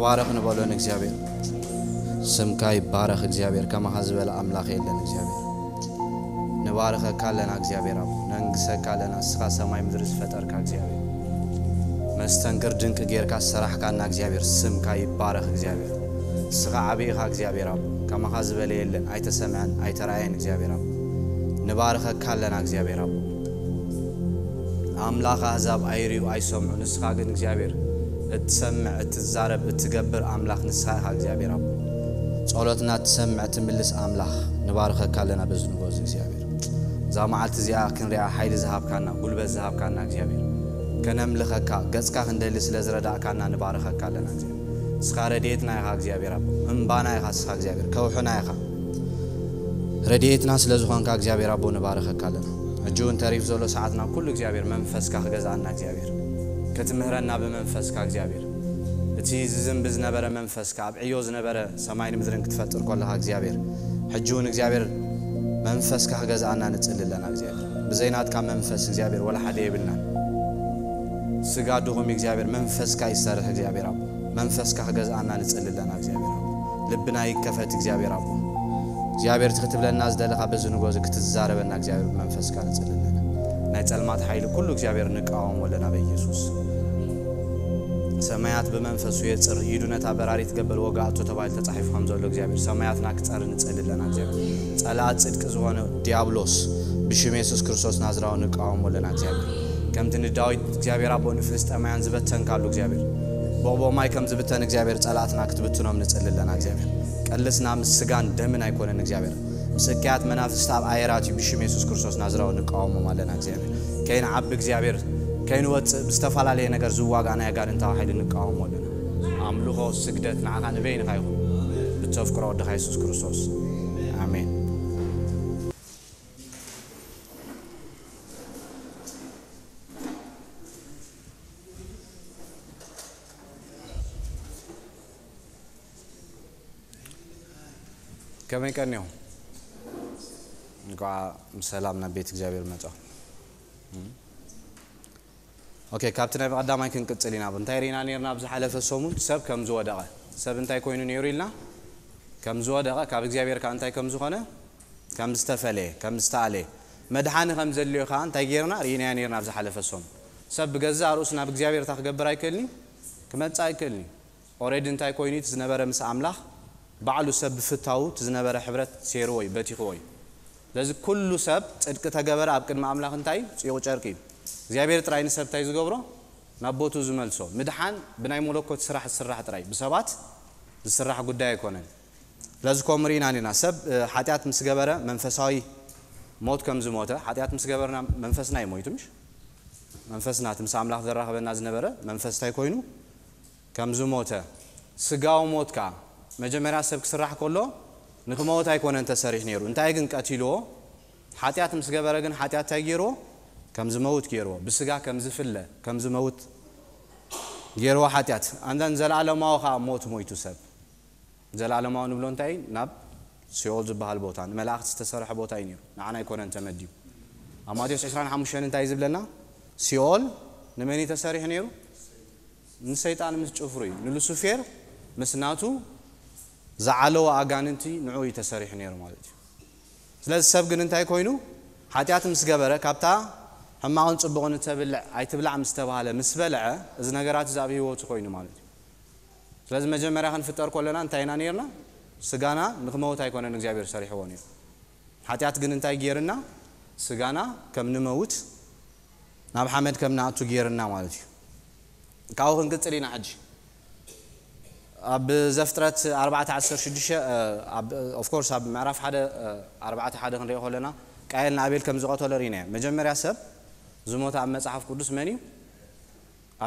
ባረኽ ንበሎ ንእግዚኣብሔር። ስምካ ይባረኽ እግዚኣብሔር፣ ከማኻ ዝበለ ኣምላኽ የለን እግዚኣብሔር። ንባርኸካ ኣለና እግዚኣብሔር ኣቦ፣ ነንግሰካ ኣለና። ንስኻ ሰማይ ምድሪ ዝፈጠርካ እግዚኣብሔር፣ መስተንክር ድንቂ ጌርካ ዝሰራሕካና እግዚኣብሔር፣ ስምካ ይባረኽ እግዚኣብሔር። ንስኻ ዓብይ ኢኻ እግዚኣብሔር ኣቦ፣ ከማኻ ዝበለ የለን፣ ኣይተሰምዐን ኣይተራእየን እግዚኣብሔር ኣቦ። ንባርኸካ ኣለና እግዚኣብሔር ኣቦ። ኣምላኽ ኣህዛብ ኣይርእዩ ኣይሰምዑ፣ ንስኻ ግን እግዚኣብሔር እትሰምዕ፣ እትዛረብ፣ እትገብር ኣምላኽ ንስኻ ኢኻ እግዚኣብሔር ኣቦ። ጸሎትና እትሰምዕ፣ እትምልስ ኣምላኽ ንባርኸካ ኣለና በዚ ንግሆ እዚ እግዚኣብሔር። እዛ መዓልቲ እዚኣ ክንሪኣ ሓይሊ ዝሃብካና፣ ጉልበት ዝሃብካና እግዚኣብሔር፣ ከነምልኸካ፣ ገጽካ ክንደሊ ስለ ዝረዳእካና ንባርኸካ ኣለና እግዚኣብሔር። ንስኻ ረድኤትና ኢኻ እግዚኣብሔር ኣቦ፣ እምባና ኢኻ ንስኻ እግዚኣብሔር፣ ከውሕና ኢኻ። ረድኤትና ስለ ዝኾንካ እግዚኣብሔር ኣቦ ንባርኸካ ኣለና። ሕጂ እውን ተሪፍ ዘሎ ሰዓትና ኩሉ እግዚኣብሔር መንፈስካ ክገዝኣና እግዚኣብሔር፣ ክትምህረና ብመንፈስካ እግዚኣብሔር፣ እቲ ዝዝንቢ ዝነበረ መንፈስካ፣ ኣብ ዕዮ ዝነበረ ሰማይን ምድርን ክትፈጥር ከለኻ እግዚኣብሔር፣ ሕጂ እውን እግዚኣብሔር መንፈስካ ክገዝኣና ንጽሊ ኣለና እግዚኣብሔር። ብዘይ ናትካ መንፈስ እግዚኣብሔር ወላ ሓደ የብልናን። ስጋ ድኹም እዩ እግዚኣብሔር፣ መንፈስካ ይሰርሕ እግዚኣብሔር ኣቦ። መንፈስካ ክገዝኣና ንጽሊ ኣለና እግዚኣብሔር ኣቦ። ልብና ይከፈት እግዚኣብሔር ኣቦ። እግዚኣብሔር እቲ ክትብለና ዝደለኻ በዚ ንግሆ እዚ ክትዛረበና እግዚኣብሔር ብመንፈስካ ንጽሊ ኣለና። ናይ ጸልማት ሓይሊ ኩሉ እግዚኣብሔር ንቃወሞ ኣለና በኢየሱስ። ሰማያት ብመንፈሱ የጽር፣ ኢዱ ነታ በራሪት ገበል ወጋእቶ ተባሂሉ ተጻሒፉ ከም ዘሎ እግዚኣብሔር ሰማያትና ክጸሪ ንጽሊ ኣለና እግዚኣብሔር። ጸላእ ጽድቂ ዝኾነ ዲያብሎስ ብሽም የሱስ ክርስቶስ ናዝራዊ ንቃወሞ ኣለና እግዚኣብሔር። ከምቲ ንዳዊት እግዚኣብሔር ኣቦ ንፍልስጤማውያን ዝበተንካሉ እግዚኣብሔር፣ ቦቦ ማይ ከም ዝብተን እግዚኣብሔር ጸላእትና ክትብትኖም ንጽሊ ኣለና እግዚኣብሔር። ቀልስና ምስ ስጋን ደምን ኣይኮነን እግዚኣብሔር፣ ምስ እከያት መናፍስቲ ኣብ ኣየራት እዩ። ብሽም የሱስ ክርስቶስ ናዝራዊ ንቃወሞም ኣለና እግዚኣብሔር። ከይንዓቢ እግዚኣብሔር፣ ከይንወጽእ ብዝተፈላለየ ነገር ዝዋጋእና ኣጋንንታዊ ሓይሊ ንቃወሞ ኣለና። ኣምልኾ ስግደት ንዓኻ ንበይንኻ ይኹን፣ ብተፍቅሮ ወድኻ የሱስ ክርስቶስ፣ ኣሜን። ከመይ ቀኒኹም? እንኳዕ ብሰላም ናብ ቤት እግዚኣብሔር መጻኹም። ኦኬ፣ ካብቲ ናይ ብቐዳማይ ክንቅጽል ኢና። እንታይ ርኢና ነርና? ኣብ ዝሓለፈ ሰሙን ሰብ ከም ዝወደቐ፣ ሰብ እንታይ ኮይኑ ነይሩ ኢልና? ከም ዝወደቐ፣ ካብ እግዚኣብሔር ከኣ እንታይ ከም ዝኾነ? ከም ዝተፈለየ፣ ከም ዝተኣለየ፣ መድሓኒ ከም ዘድልዮ ከኣ እንታይ ጌርና? ርኢናዮ ነርና ኣብ ዝሓለፈ ሰሙን። ሰብ ብገዛእ ርእሱ ናብ እግዚኣብሔር እንታይ ክገብር ኣይክእልን እዩ? ክመጽእ ኣይክእልን እዩ። ኦሬዲ እንታይ ኮይኑ እቲ ዝነበረ ምስ ኣምላኽ? ባዕሉ ሰብ ብፍታዉ እቲ ዝነበረ ሕብረት ሴርዎ እዩ፣ በቲኽዎ እዩ። ስለዚ ኩሉ ሰብ ጽድቂ ተገበረ ኣብ ቅድሚ ኣምላኽ እንታይ እዩ? ጽዩቕ ጨርቂ እዩ። እግዚኣብሔር ጥራይ ንሰብ እንታይ ዝገብሮ? ናብ ቦትኡ ዝመልሶ። ምድሓን ብናይ መለኮት ስራሕ ዝስራሕ ጥራይ፣ ብሰባት ዝስራሕ ጉዳይ ኣይኮነን። ስለዚ ከምኡ ርኢና ኢና። ሰብ፣ እ፣ ሓጢኣት ምስ ገበረ መንፈሳዊ ሞት ከም ዝሞተ፣ ሓጢኣት ምስ ገበርና መንፈስና እዩ ሞይቱ፣ ምሽ? መንፈስና፣ እቲ ምስ ኣምላኽ ዘራኽበና ዝነበረ መንፈስ እንታይ ኮይኑ? ከም ዝሞተ። ስጋዊ ሞት ከኣ መጀመርያ ሰብ ክስራሕ ከሎ ንክመውት ኣይኮነን ተሰሪሑ ነይሩ። እንታይ ግን ቀቲልዎ? ሓጢኣት ምስ ገበረ ግን ሓጢኣት እንታይ ገይርዎ? ከም ዝመውት ገይርዎ። ብስጋ ከም ዝፍለ፣ ከም ዝመውት ገይርዎ ሓጢኣት። ኣንዳን ዘለኣለማዊ ከኣ ሞት ሞይቱ ሰብ። ዘለኣለማዊ ንብሎ እንታይ እዩ? ናብ ሲኦል ዝበሃል ቦታ፣ ንመላእኽቲ ዝተሰርሐ ቦታ እዩ ነይሩ። ንዓና ኣይኮነን ተመዲቡ። ኣብ ማቴዎስ ዕስራን ሓሙሽተን እንታይ እዩ ዝብለና? ሲኦል ንመን እዩ ተሰሪሑ ነይሩ? ንሰይጣን ምስ ጭፍሩ እዩ። ንሉሲፌር ምስ ናቱ ዝዓለወ ኣጋንንቲ ንዑ እዩ ተሰሪሑ ነይሩ ማለት እዩ። ስለዚ ሰብ ግን እንታይ ኮይኑ? ሓጢኣት ምስ ገበረ፣ ካብታ ሕማቕን ጽቡቕን እተብልዕ ኣይትብላዕ ምስ ተባህለ፣ ምስ በልዐ፣ እዚ ነገራት እዚ ኣብ ህይወቱ ኮይኑ ማለት እዩ። ስለዚ መጀመርያ ክንፍጠር ከለና እንታይ ኢና ነይርና? ስጋና ንክመውት ኣይኮነን እግዚኣብሔር ሰሪሕዎ ነይሩ። ሓጢኣት ግን እንታይ ገይርና? ስጋና ከም ንመውት፣ ናብ ሓመድ ከም ንኣቱ ገይርና ማለት እዩ። ካብኡ ክንቅጽል ኢና ሕጂ። ኣብ ዘፍጥረት ኣርባዕተ ዓሰርተ ሽዱሽተ፣ እ፣ ኣብ፣ ኦፍ ኮርስ ኣብ ምዕራፍ ሓደ፣ እ፣ ኣርባዕተ ሓደ ክንሪኦ ከለና ቃየል ንኣቤል ከም ዝቐተሎ ርኢናዮ። መጀመርያ ሰብ ዝሞተ ኣብ መጽሓፍ ቅዱስ መን እዩ?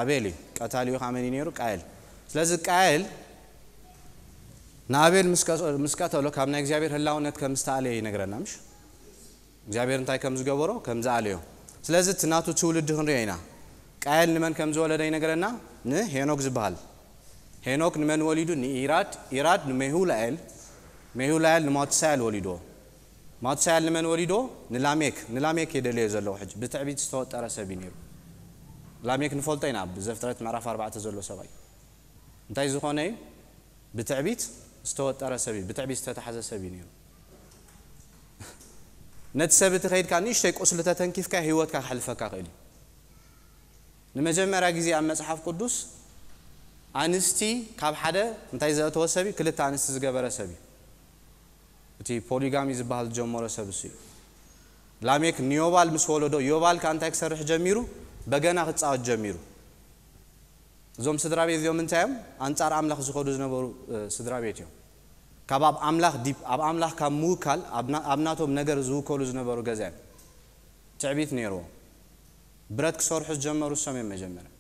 ኣቤል እዩ። ቀታሊኡ ኸዓ መን እዩ ነይሩ? ቃየል። ስለዚ ቃየል ንኣቤል ምስ ቀ-፣ ምስ ቀተሎ ካብ ናይ እግዚኣብሔር ህላውነት ከም ዝተኣለየ ይነግረና፣ ምሽ? እግዚኣብሔር እንታይ ከም ዝገበሮ? ከም ዝኣለዮ። ስለዚ እቲ ናቱ ትውልዲ ክንሪኦ ኢና። ቃየል ንመን ከም ዝወለደ ይነግረና? ንሄኖክ ዝበሃል። ሄኖክ ንመን ወሊዱ? ንኢራድ። ኢራድ ንሜሁላኤል። ሜሁላኤል ንማቱሳኤል ወሊድዎ። ማቱሳኤል ንመን ወሊድዎ? ንላሜክ። ንላሜክ እየ ደልዮ ዘለኹ ሕጂ። ብትዕቢት ዝተወጠረ ሰብ እዩ ነይሩ። ላሜክ ንፈልጦ ኢና፣ ኣብ ዘፍጥረት ምዕራፍ ኣርባዕተ ዘሎ ሰብኣይ። እንታይ ዝኾነ እዩ? ብትዕቢት ዝተወጠረ ሰብ እዩ፣ ብትዕቢት ዝተታሕዘ ሰብ እዩ ነይሩ። ነቲ ሰብ እቲ ከይድካ ንእሽተይ ቁስሊ ተተንኪፍካ ህይወትካ ክሕልፈካ ክእል እዩ። ንመጀመርያ ግዜ ኣብ መጽሓፍ ቅዱስ ኣንስቲ ካብ ሓደ እንታይ ዘእተወ ሰብ እዩ? ክልተ ኣንስቲ ዝገበረ ሰብ እዩ። እቲ ፖሊጋሚ ዝበሃል ዝጀመሮ ሰብ እሱ እዩ። ላሜክ ንዮባል ምስ ወለዶ፣ ዮባል ከኣ እንታይ ክሰርሕ ጀሚሩ? በገና ክጻወት ጀሚሩ። እዞም ስድራ ቤት እዚኦም እንታይ እዮም? ኣንጻር ኣምላኽ ዝኸዱ ዝነበሩ፣ እ፣ ስድራ ቤት እዮም። ካብ ኣብ ኣምላኽ ዲፕ፣ ኣብ ኣምላኽ ካብ ምውካል፣ ኣብ ና-፣ ኣብ ናቶም ነገር ዝውከሉ ዝነበሩ ገዛ እዮም። ትዕቢት ነይርዎም። ብረት ክሰርሑ ዝጀመሩ እሶም እዮም መጀመርያ።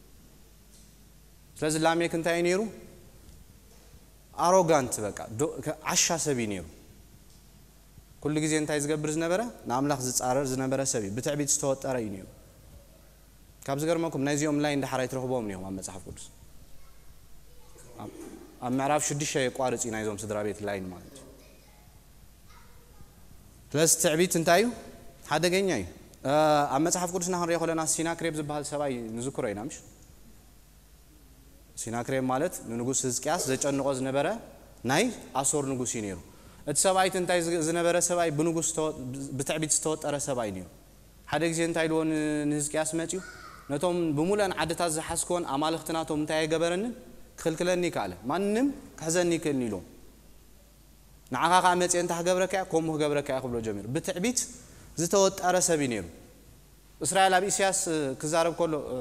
ስለዚ ላሜክ እንታይ እዩ ነይሩ? ኣሮጋንት፣ በቃ፣ ዶ-፣ ከ-፣ ዓሻ ሰብ እዩ ነይሩ። ኩሉ ግዜ እንታይ ዝገብር ዝነበረ? ንኣምላኽ ዝጻረር ዝነበረ ሰብ እዩ። ብትዕቢት ዝተወጠረ እዩ ነይሩ። ካብ ዝገርመኩም፣ ናይዚኦም ላይን ደሓር ኣይትረኽብዎም እዮም ኣብ መጽሓፍ ቅዱስ። ኣብ፣ ኣብ ምዕራፍ ሽዱሽተ የቋርጽ እዩ ናይዞም ስድራ ቤት ላይን ማለት እዩ። ስለዚ ትዕቢት እንታይ እዩ? ሓደገኛ እዩ። እ፣ ኣብ መጽሓፍ ቅዱስና ክንሪኦ ከለና ሲናክሬብ ዝበሃል ሰብኣይ ንዝክሮ ኢና፣ ምሽ? ሲናክሬም ማለት ንንጉስ ህዝቅያስ ዘጨንቆ ዝነበረ ናይ ኣሶር ንጉስ እዩ ነይሩ። እቲ ሰብኣይ እቲ እንታይ ዝ-፣ ዝነበረ ሰብኣይ ብንጉስ ዝተወ-፣ ብትዕቢት ዝተወጠረ ሰብኣይ ነይሩ። ሓደ ግዜ እንታይ ኢልዎ ን-፣ ንህዝቅያስ መጽዩ፣ ነቶም ብምሉአን ዓድታት ዝሓዝክዎን ኣማልኽቲ ናቶም እንታይ ኣይገበረንን ክኽልክለኒ ይከኣለ፣ ማንም ክሕዘኒ ይክእልን ኢልዎ። ንዓኻ ከኣ መጽየ እንተ ክገብረካ እየ፣ ከምኡ ክገብረካ እየ ክብሎ ጀሚሩ። ብትዕቢት ዝተወጠረ ሰብ እዩ ነይሩ። እስራኤል ኣብ ኢሳያስ፣ እ፣ ክዛረብ ከሎ፣ እ፣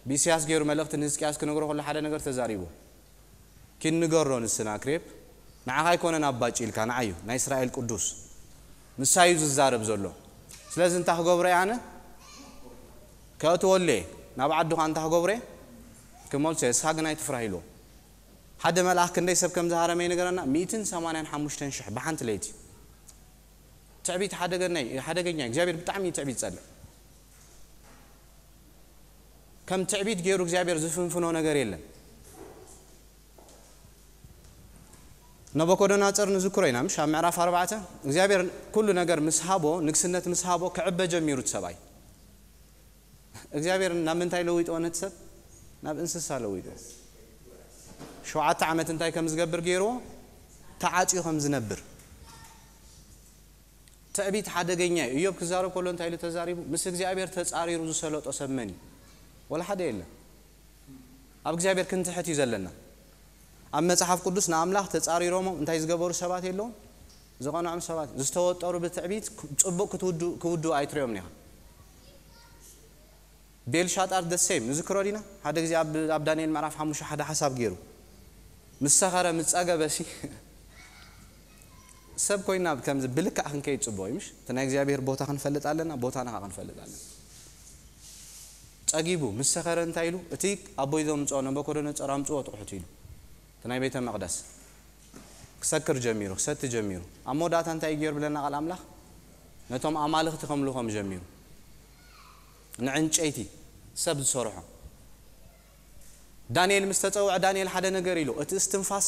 ብኢሳያስ ገይሩ መልእኽቲ ንህዝቅያስ ክነግሮ ከሎ ሓደ ነገር ተዛሪቡ። ኪድ ንገሮ ንስናክሬብ፣ ንዓኻ ኣይኮነን ኣብ ባጭ ኢልካ፣ ንዓዩ፣ ናይ እስራኤል ቅዱስ። ንሳዩ ዝዛረብ ዘሎ። ስለዚ እንታይ ክገብሮ እየ ኣነ? ከእትወሉ እየ። ናብ ዓዱ ኸኣ እንታይ ክገብሮ እየ? ክመልሶ እየ። ንስኻ ግን ኣይትፍራህ ኢልዎ። ሓደ መልኣኽ ክንደይ ሰብ ከም ዝሃረመ ይነገረና፣ ሚእትን ሰማንያን ሓሙሽተን ሽሕ ብሓንቲ ለይቲ። ትዕቢት ሓደገኛ እዩ፣ ሓደገኛ እዩ። እግዚኣብሔር ብጣዕሚ እዩ ትዕቢት ዝጸልእ። ከም ትዕቢት ገይሩ እግዚኣብሔር ዝፍንፍኖ ነገር የለን። ነቡኮደነጾር ንዝክሮ ኢና፣ ምሽ? ኣብ ምዕራፍ ኣርባዕተ እግዚኣብሔር ኩሉ ነገር ምስ ሃቦ፣ ንግስነት ምስ ሃቦ፣ ክዕበ ጀሚሩ እቲ ሰብኣይ። እግዚኣብሔር ናብ ምንታይ ለዊጥዎ ነቲ ሰብ? ናብ እንስሳ ለዊጥዎ። ሸውዓተ ዓመት እንታይ ከም ዝገብር ገይርዎ? ተዓጽዩ ከም ዝነብር። ትዕቢት ሓደገኛ እዩ። እዮብ ክዛረብ ከሎ እንታይ ኢሉ ተዛሪቡ? ምስ እግዚኣብሔር ተጻሪሩ ዝሰለጦ ሰብ መን እዩ? ወላ ሓደ የለን። ኣብ እግዚኣብሔር ክንትሕት እዩ ዘለና። ኣብ መጽሓፍ ቅዱስ ንኣምላኽ ተጻሪሮሞ እንታይ ዝገበሩ ሰባት የለውን? ዝቐንዖም ሰባት። ዝተወጠሩ ብትዕቢት ክ-፣ ጽቡቕ ክትውዱ-፣ ክውድኡ ኣይትሪኦም ኢኻ። ቤልሻጣር the same። ንዝክሮ ዲና? ሓደ ግዜ ኣብ፣ ኣብ ዳንኤል ምዕራፍ ሓሙሽተ ሓደ ሓሳብ ገይሩ። ምስ ሰኸረ፣ ምስ ጸገበ ሲ፣ ሰብ ኮይና ከምዚ ብልክዕ ክንከይድ ጽቡቕ እዩ፣ ምሽ? እቲ ናይ እግዚኣብሔር ቦታ ክንፈልጥ ኣለና፣ ቦታና ኸኣ ክንፈልጥ ኣለና። ጸጊቡ፣ ምስ ሰኸረ እንታይ ኢሉ? እቲ ኣቦይ ዘምጽኦ ነቡኮደነጾር ኣምጽዎ ጥቕሑት ኢሉ። እቲ ናይ ቤተ መቕደስ ክሰክር ጀሚሩ፣ ክሰቲ ጀሚሩ። ኣብ መወዳእታ እንታይ ገይሩ ብለና ቃል ኣምላኽ? ነቶም ኣማልኽቲ ከምልኾም ጀሚሩ። ንዕንጨይቲ ሰብ ዝሰርሖ። ዳንኤል ምስ ተጸውዐ፣ ዳንኤል ሓደ ነገር ኢሉ፣ እቲ እስትንፋስ፣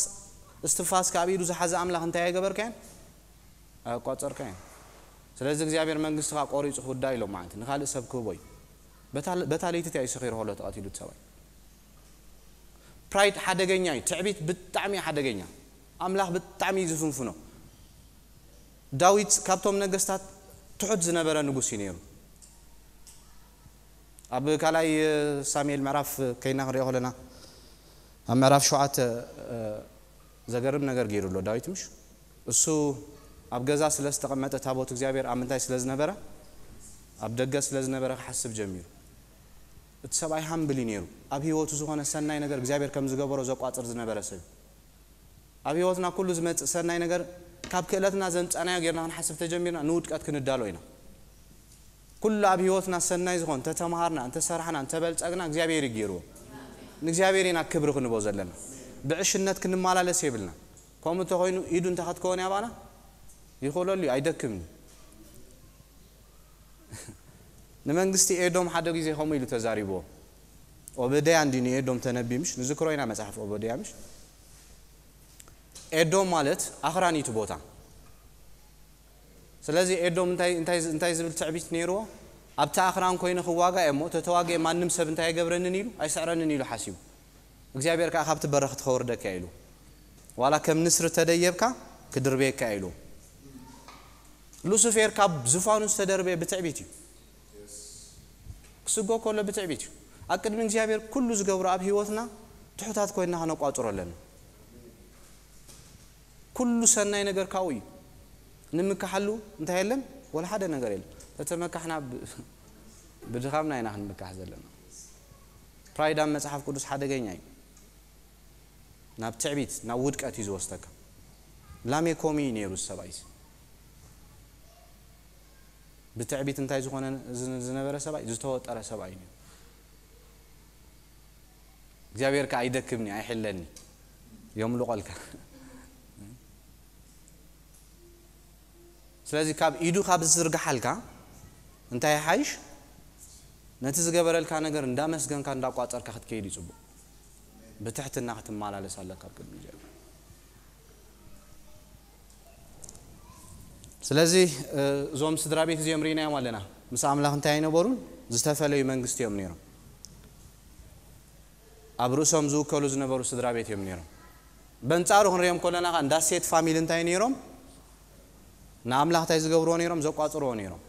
እስትንፋስ ካብ ኢዱ ዝሓዘ ኣምላኽ እንታይ ኣይገበርካዮን? ኣየቋጸርካዮን። ስለዚ እግዚኣብሔር መንግስትኻ ቆሪጹ ክውዳ ኢሎም ማለት ንኻልእ ሰብ ክህቦ እዩ። በታ፣ በታ ለይቲ እቲ እዩ ሰኺሩ ከሎ ተቐቲሉ እቲ ሰብኣይ። ፕራይድ ሓደገኛ እዩ። ትዕቢት ብጣዕሚ እዩ ሓደገኛ። ኣምላኽ ብጣዕሚ እዩ ዝፍንፍኖ። ዳዊት ካብቶም ነገስታት ትሑት ዝነበረ ንጉስ እዩ ነይሩ። ኣብ ካልኣይ ሳሙኤል ምዕራፍ ከይና ክንሪኦ ከለና፣ ኣብ ምዕራፍ ሸውዓተ፣ እ፣ ዘገርም ነገር ገይሩ ኣሎ ዳዊት፣ ምሽ? እሱ ኣብ ገዛ ስለ ዝተቐመጠ ታቦት እግዚኣብሔር ኣብ ምንታይ ስለ ዝነበረ? ኣብ ደገ ስለ ዝነበረ ክሓስብ ጀሚሩ። እቲ ሰብኣይ ሃምብል እዩ ነይሩ። ኣብ ህይወቱ ዝኾነ ሰናይ ነገር እግዚኣብሔር ከም ዝገበሮ ዘቋጽር ዝነበረ ሰብ። ኣብ ህይወትና ኩሉ ዝመጽእ ሰናይ ነገር ካብ ክእለትና ዘምጻናዮ ጌርና ክንሓስብ ተጀሚርና ንውድቀት ክንዳሎ ኢና። ኩሉ ኣብ ህይወትና ሰናይ ዝኾን እንተተማሃርና፣ እንተሰርሕና፣ እንተበልጸግና እግዚኣብሔር እዩ ገይርዎ። ንእግዚኣብሔር ኢና ክብሪ ክንቦ ዘለና። ብዕሽነት ክንመላለስ የብልና። ከምኡ እንተኾይኑ ኢዱ እንተ ኸትከወን ያባና ይኽእለሉ እዩ፣ ኣይደክምን እዩ። ንመንግስቲ ኤዶም ሓደ ግዜ ከምኡ ኢሉ ተዛሪብዎ። ኦበድያ እንዲ ንኤዶም ተነቢ ምሽ? ንዝክሮ ኢና መጽሓፍ ኦበድያ ምሽ? ኤዶም ማለት ኣኽራን እዩ እቲ ቦታ። ስለዚ ኤዶም እንታይ፣ እንታይ፣ እንታይ ዝብል ትዕቢት ነይርዎ? ኣብቲ ኣኽራን ኮይነ ክዋጋ እየ እሞ፣ ተተዋግኤ ማንም ሰብ እንታይ ኣይገብረንን ኢሉ፣ ኣይስዕረንን ኢሉ ሓሲቡ። እግዚኣብሔር ከኣ ካብቲ በረኽቲ ከወርደካ ኢሉ። ዋላ ከም ንስሪ ተደየብካ ክድርበየካ ኢሉ። ሉሲፌር ካብ ዝፋኑ ዝተደርበየ ብትዕቢት እዩ። ክስጎ ከሎ ብትዕቢት እዩ። ኣብ ቅድሚ እግዚኣብሔር ኩሉ ዝገብሮ ኣብ ህይወትና ትሑታት ኮይንና ከነቋጽሮ ኣለና። ኩሉ ሰናይ ነገር ካብኡ እዩ። ንምካሓሉ እንታይ የለን? ወላ ሓደ ነገር የለን። ተተመካሕና ብ-፣ ብድኻምና ኢና ክንምካሕ ዘለና። ፕራይድ ኣብ መጽሓፍ ቅዱስ ሓደገኛ እዩ። ናብ ትዕቢት፣ ናብ ውድቀት እዩ ዝወስደካ። ላሜኮም እዩ ነይሩ እዚ ሰብኣይ እዚ። ብትዕቢት እንታይ ዝኾነ ዝ-፣ ዝነበረ ሰብኣይ? ዝተወጠረ ሰብኣይ እዩ ነይሩ። እግዚኣብሔር ከኣ ኣይደክምኒ፣ ኣይሕለኒ፣ የምልቖልካ። ስለዚ ካብ ኢዱ ካብ ዝዝርግሓልካ እንታይ ይሓይሽ? ነቲ ዝገበረልካ ነገር እንዳመስገንካ እንዳቋጸርካ ክትከይድ እዩ ጽቡቕ። ብትሕትና ክትመላለስ ኣለካ ኣብ ቅድሚ እግዚኣብሔር። ስለዚ፣ እ፣ እዞም ስድራ ቤት እዚኦም ርኢናዮም ኣለና። ምስ ኣምላኽ እንታይ ኣይነበሩን? ዝተፈለዩ መንግስቲ እዮም ነይሮም። ኣብ ርእሶም ዝውከሉ ዝነበሩ ስድራ ቤት እዮም ነይሮም። በንጻሩ ክንሪኦም ከለና ከኣ እንዳ ሴት ፋሚሊ እንታይ ነይሮም? ንኣምላኽ እንታይ ዝገብርዎ ነይሮም? ዘቋጽርዎ ነይሮም።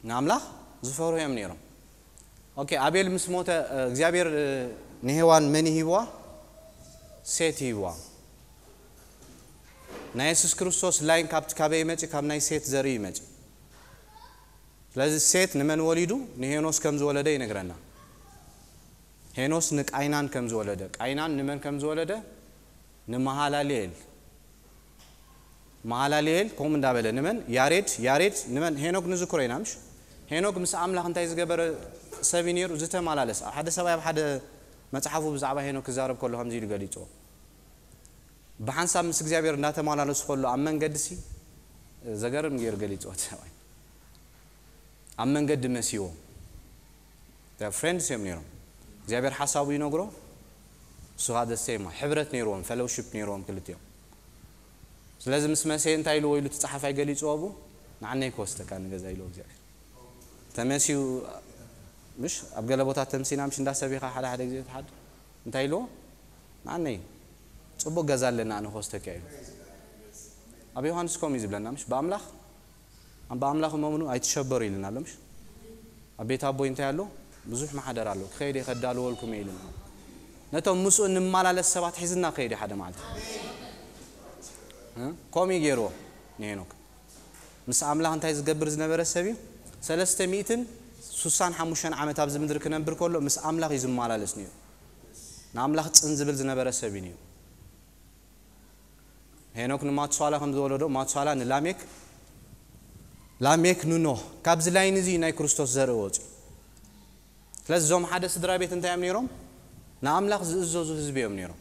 ንኣምላኽ ዝፈርሁ እዮም ነይሮም። ኦኬ፣ ኣቤል ምስ ሞተ፣ እ፣ እግዚኣብሔር፣ እ፣ ንሄዋን መን ሂብዋ? ሴት ሂብዋ። ናይ የሱስ ክርስቶስ ላይን ካብቲ ካበይ ይመጽእ? ካብ ናይ ሴት ዘርኢ ይመጽእ። ስለዚ ሴት ንመን ወሊዱ? ንሄኖስ ከም ዝወለደ ይነግረና። ሄኖስ ንቃይናን ከም ዝወለደ፣ ቃይናን ንመን ከም ዝወለደ? ንመሃላልኤል። መሃላልኤል ከምኡ እንዳበለ ንመን? ያሬድ። ያሬድ ንመን? ሄኖክ ንዝክሮ ኢና፣ ምሽ? ሄኖክ ምስ ኣምላኽ እንታይ ዝገበረ ሰብ እዩ ነይሩ? ዝተመላለስ። ኣብ ሓደ ሰብኣይ ኣብ ሓደ መጽሓፉ ብዛዕባ ሄኖክ ክዛረብ ከሎ ከምዚ ኢሉ ገሊጽዎ። ብሓንሳብ ምስ እግዚኣብሔር እንዳተመላለሱ ከሎ ኣብ መንገዲ ሲ፣ ዘገርም ገይሩ ገሊጽዎ እቲ ሰብኣይ። ኣብ መንገዲ መሲዎ። ፍሬንድስ እዮም ነይሮም። እግዚኣብሔር ሓሳቡ ይነግሮ፣ እሱ ኸኣ the same። ሕብረት ነይርዎም፣ ፌሎውሺፕ ነይርዎም ክልቲኦም። ስለዚ ምስ መሰየ እንታይ ኢልዎ ኢሉ እቲ ጸሓፋይ ገሊጽዎ ኣብኡ? ንዓነይ ክወስደካ ንገዛ ኢልዎ እግዚኣብሔር። ተመሲዩ፣ ምሽ ኣብ ገለ ቦታ ተምሲና ምሽ እንዳሰቢኻ ሓደ ሓደ ግዜ ትሓድር። እንታይ ኢልዎ? ንዓነይ ጽቡቕ ገዛ ኣለና፣ ኣነ ክወስደካ ኢሉ። ኣብ ዮሃንስ ከምኡ እዩ ዝብለና፣ ምሽ ብኣምላኽ፣ ኣም ብኣምላኽ እመኑ ኣይትሸበሩ ኢልና ኣሎ፣ ምሽ? ኣብ ቤት ኣቦይ እንታይ ኣሎ? ብዙሕ ማሕደር ኣሎ፣ ክኸይድ እየ ከዳልወልኩም እየ ኢልና። ነቶም ምስኡ እንመላለስ ሰባት ሒዝና ክኸይድ እዩ ሓደ መዓልቲ። እ? ከምኡ እዩ ገይርዎ ንሄኖክ። ምስ ኣምላኽ እንታይ ዝገብር ዝነበረ ሰብ እዩ? ሰለስተ ሚእትን ሱሳን ሓሙሽተን ዓመት ኣብዚ ምድሪ ክነብር ከሎ ምስ ኣምላኽ እዩ ዝመላለስ ነይሩ። ንኣምላኽ ጽን ዝብል ዝነበረ ሰብ እዩ ነይሩ። ሄኖክ ንማቱሳላ ከም ዝወለዶ፣ ማቱሳላ ንላሜክ፣ ላሜክ ንኖህ። ካብዚ ላይን እዚ ናይ ክርስቶስ ዘርኢ ወፅዩ። ስለዚ እዞም ሓደ ስድራ ቤት እንታይ እዮም ነይሮም? ንኣምላኽ ዝእዘዙ ህዝቢ እዮም ነይሮም።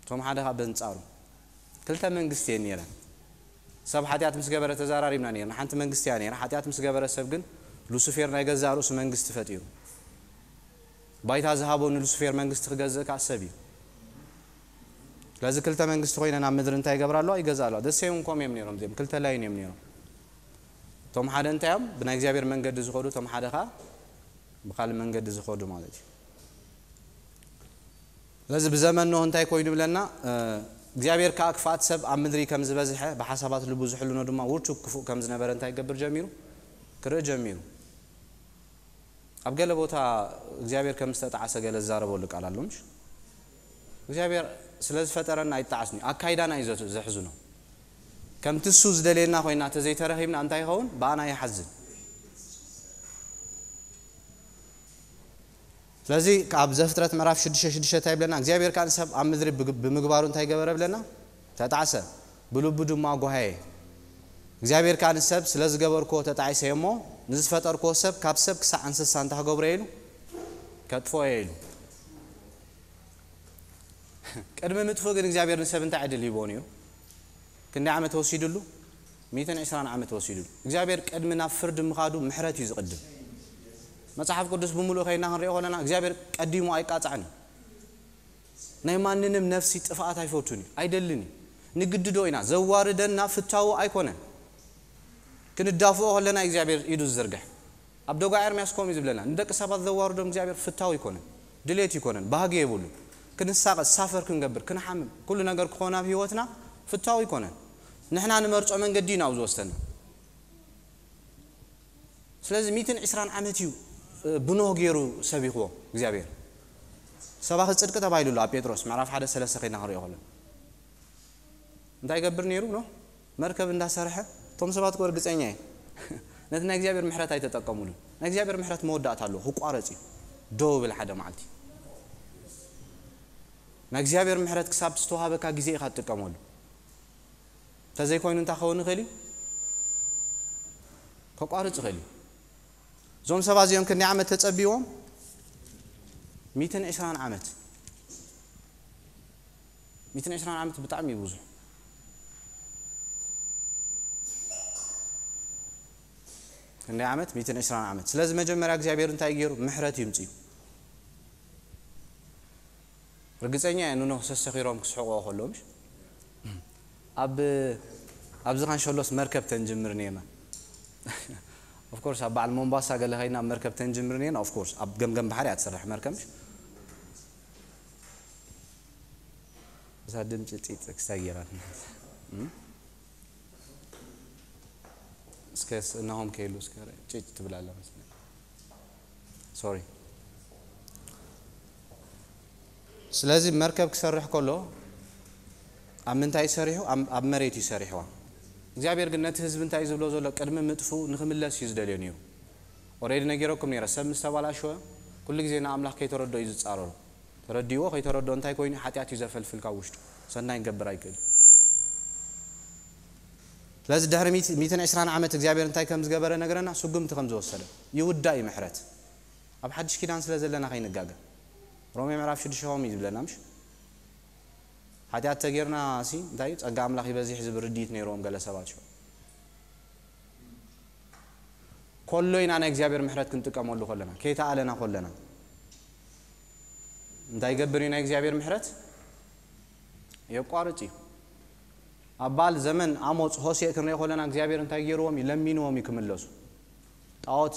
እቶም ሓደ ካብ በንጻሩ ክልተ መንግስቲ እየን ነይረን። ሰብ ሓጢኣት ምስ ገበረ ተዛራሪብና ነይርና። ሓንቲ መንግስቲ እያ ነይራ። ሓጢኣት ምስ ገበረ ሰብ ግን ሉሲፌር ናይ ገዛእ ርእሱ መንግስቲ ፈጢሩ። ባይታ ዝሃቦ ንሉሲፌር መንግስቲ ክገዝእ ከኣ ሰብ እዩ። ስለዚ ክልተ መንግስቲ ኮይነን ኣብ ምድሪ እንታይ ይገብራ ኣለዋ? ይገዝኣ ኣለዋ። ደሴም ከምኡ እዮም ነይሮም። እዚኦም ክልተ ላይን እዮም ነይሮም። እቶም ሓደ እንታይ እዮም? ብናይ እግዚኣብሔር መንገዲ ዝኸዱ፣ እቶም ሓደ ከኣ ብኻልእ መንገዲ ዝኸዱ ማለት እዩ። ስለዚ ብዘመን ኖህ እንታይ ኮይኑ ይብለና? እ፣ እግዚኣብሔር ከኣ ክፍኣት ሰብ ኣብ ምድሪ ከም ዝበዝሐ ብሓሳባት ልቡ ዝሕልኖ ድማ ውርቱ ክፉእ ከም ዝነበረ እንታይ ይገብር ጀሚሩ? ክርኢ ጀሚሩ። ኣብ ገለ ቦታ እግዚኣብሔር ከም ዝተጣዕሰ ገለ ዝዛረበሉ ቃል ኣሎ፣ ምሽ? እግዚኣብሔር ስለ ዝፈጠረና ኣይጣዓስን እዩ። ኣካይዳና እዩ ዘት-፣ ዘሕዝኖ። ከምቲ እሱ ዝደልየና ኮይና ተዘይተረኺብና እንታይ ይኸውን? ብኣና ይሓዝን። ስለዚ ኣብ ዘፍጥረት ምዕራፍ ሽዱሽተ ሽዱሽተ እንታይ ይብለና? እግዚኣብሔር ከኣ ንሰብ ኣብ ምድሪ ብግ-፣ ብምግባሩ እንታይ ገበረ ብለና? ተጣዕሰ፣ ብልቡ ድማ ጓሃየ። እግዚኣብሔር ከኣ ንሰብ ስለ ዝገበርክዎ ተጣዒሰ እየ እሞ ንዝፈጠርክዎ ሰብ ካብ ሰብ ክሳዕ እንስሳ እንታይ ክገብሮ እየ ኢሉ? ከጥፍኦ እየ ኢሉ። ቅድሚ ምጥፍኡ ግን እግዚኣብሔር ንሰብ እንታይ ዕድል ሂብዎ ነይሩ? ክንደይ ዓመት ወሲድሉ? ሚእትን ዕስራን ዓመት ወሲድሉ። እግዚኣብሔር ቅድሚ ናብ ፍርዲ ምኻዱ ምሕረት እዩ ዝቕድም። መጽሓፍ ቅዱስ ብምሉእ ከይና ክንሪኦ ከለና እግዚኣብሔር ቀዲሙ ኣይቃጻዕን እዩ። ናይ ማንንም ነፍሲ ጥፍኣት ኣይፈቱን እዩ፣ ኣይደልን እዩ። ንግድዶ ኢና፣ ዘዋርደና ፍታዉ ኣይኮነን። ክንዳፍኦ ከለና እግዚኣብሔር ኢዱ ዝዝርግሕ። ኣብ ደጓ ኤርምያስ ከምኡ እዩ ዝብለና፣ ንደቂ ሰባት ዘዋርዶም እግዚኣብሔር ፍታው ይኮነን፣ ድሌት ይኮነን፣ ባህጊ የብሉን። ክንሳቐ ሳፈር ክንገብር ክንሓምም ኩሉ ነገር ክኾን ኣብ ህይወትና ፍታው ኣይኮነን። ንሕና ንመርጾ መንገዲ ኢና ኣብዚ ወሰና። ስለዚ ሚትን ዕስራን ዓመት እዩ ብኖህ ገይሩ ሰቢኽዎ እግዚኣብሔር። ሰባኺ ጽድቂ ተባሂሉ ኣሎ ኣብ ጴጥሮስ ምዕራፍ ሓደ ሰለስተ ከይድና ክንሪኦ ከሎ እንታይ ይገብር ነይሩ ኖህ? መርከብ እንዳሰርሐ እቶም ሰባት እኮ እርግጸኛ እየ ነቲ ናይ እግዚኣብሔር ምሕረት ኣይተጠቀሙሉን። ናይ እግዚኣብሔር ምሕረት መወዳእታ ኣለዎ፣ ክቋረጽ እዩ። ደው ብል ሓደ መዓልቲ ናይ እግዚኣብሔር ምሕረት ክሳብ ዝተዋሃበካ ግዜ ኢኻ ትጥቀመሉ። እንተዘይኮይኑ እንታይ ክኸውን ይኽእል እዩ? ከቋርጽ ይኽእል እዩ። እዞም ሰባት እዚኦም ክንደይ ዓመት ተጸቢዎም? ሚትን ዕስራን ዓመት። ሚትን ዕስራን ዓመት ብጣዕሚ እዩ ብዙሕ። ክንደይ ዓመት? ሚትን ዕስራን ዓመት። ስለዚ መጀመርያ እግዚኣብሔር እንታይ ገይሩ? ምሕረት ይምጽኡ። ርግጸኛ እየ ንኖህ ሰሰኺሮም ክስሕቕዎ ከለዉ ምሽ ኣብ ኣብዚ ካንሸሎስ መርከብ ተንጅምር ነና። ኦፍኮርስ ኣብ በዓል ሞምባሳ ገለ ኸይና ኣብ መርከብ ተንጅምር ነና። ኦፍኮርስ ኣብ ገምገም ባሕሪ እያ ትሰርሕ መርከብ ምሽ እዛ ድምፂ ፂፅ ክሳይ ገይራ እስከ እናሆም ከይሉ እስከ ጭጭ ትብላለ መስለኝ። ሶሪ። ስለዚ መርከብ ክሰርሕ ከሎ ኣብ ምንታይ ሰሪሑ? ኣብ መሬት እዩ ሰሪሕዋ። እግዚኣብሔር ግን ነቲ ህዝቢ እንታይ ዝብሎ ዘሎ? ቅድሚ ምጥፍኡ ንክምለስ እዩ ዝደልዮ ነይሩ። ኦሬዲ ነጊረኩም ነይረ፣ ሰብ ምስ ተባላሸወ ኩሉ ግዜ ንኣምላኽ ከይተረዶ እዩ ዝጻረሩ። ተረዲዎ ከይተረዶ እንታይ ኮይኑ ሓጢኣት እዩ ዘፈልፍል ካብ ውሽጡ ሰናይ ክገብር ኣይክእል። ስለዚ ድሕሪ ሚትን ዕስራን ዓመት እግዚኣብሔር እንታይ ከም ዝገበረ ነገረና፣ ስጉምቲ ከም ዝወሰደ ይውዳእ እዩ ምሕረት። ኣብ ሓድሽ ኪዳን ስለ ዘለና ከይንጋገ ሮሜ ምዕራፍ ሽዱሽተ ከምኡ እዩ ዝብለና ምሽ ሓጢኣት ተጌርና ሲ እንታይ እዩ ጸጋ ኣምላኽ ይበዚሕ ዝብል ርድኢት ነይርዎም ገለ ሰባት ሽዑ። ኮሎ ኢና ናይ እግዚኣብሔር ምሕረት ክንጥቀመሉ ከለና ከይተኣለና ከለና እንታይ ይገብር እዩ ናይ እግዚኣብሔር ምሕረት? የቋርጽ እዩ። ኣብ በዓል ዘመን ኣሞጽ ሆሴእ ክንሪኦ ከለና እግዚኣብሔር እንታይ ገይርዎም እዩ? ለሚንዎም እዩ ክምለሱ። ጣዖት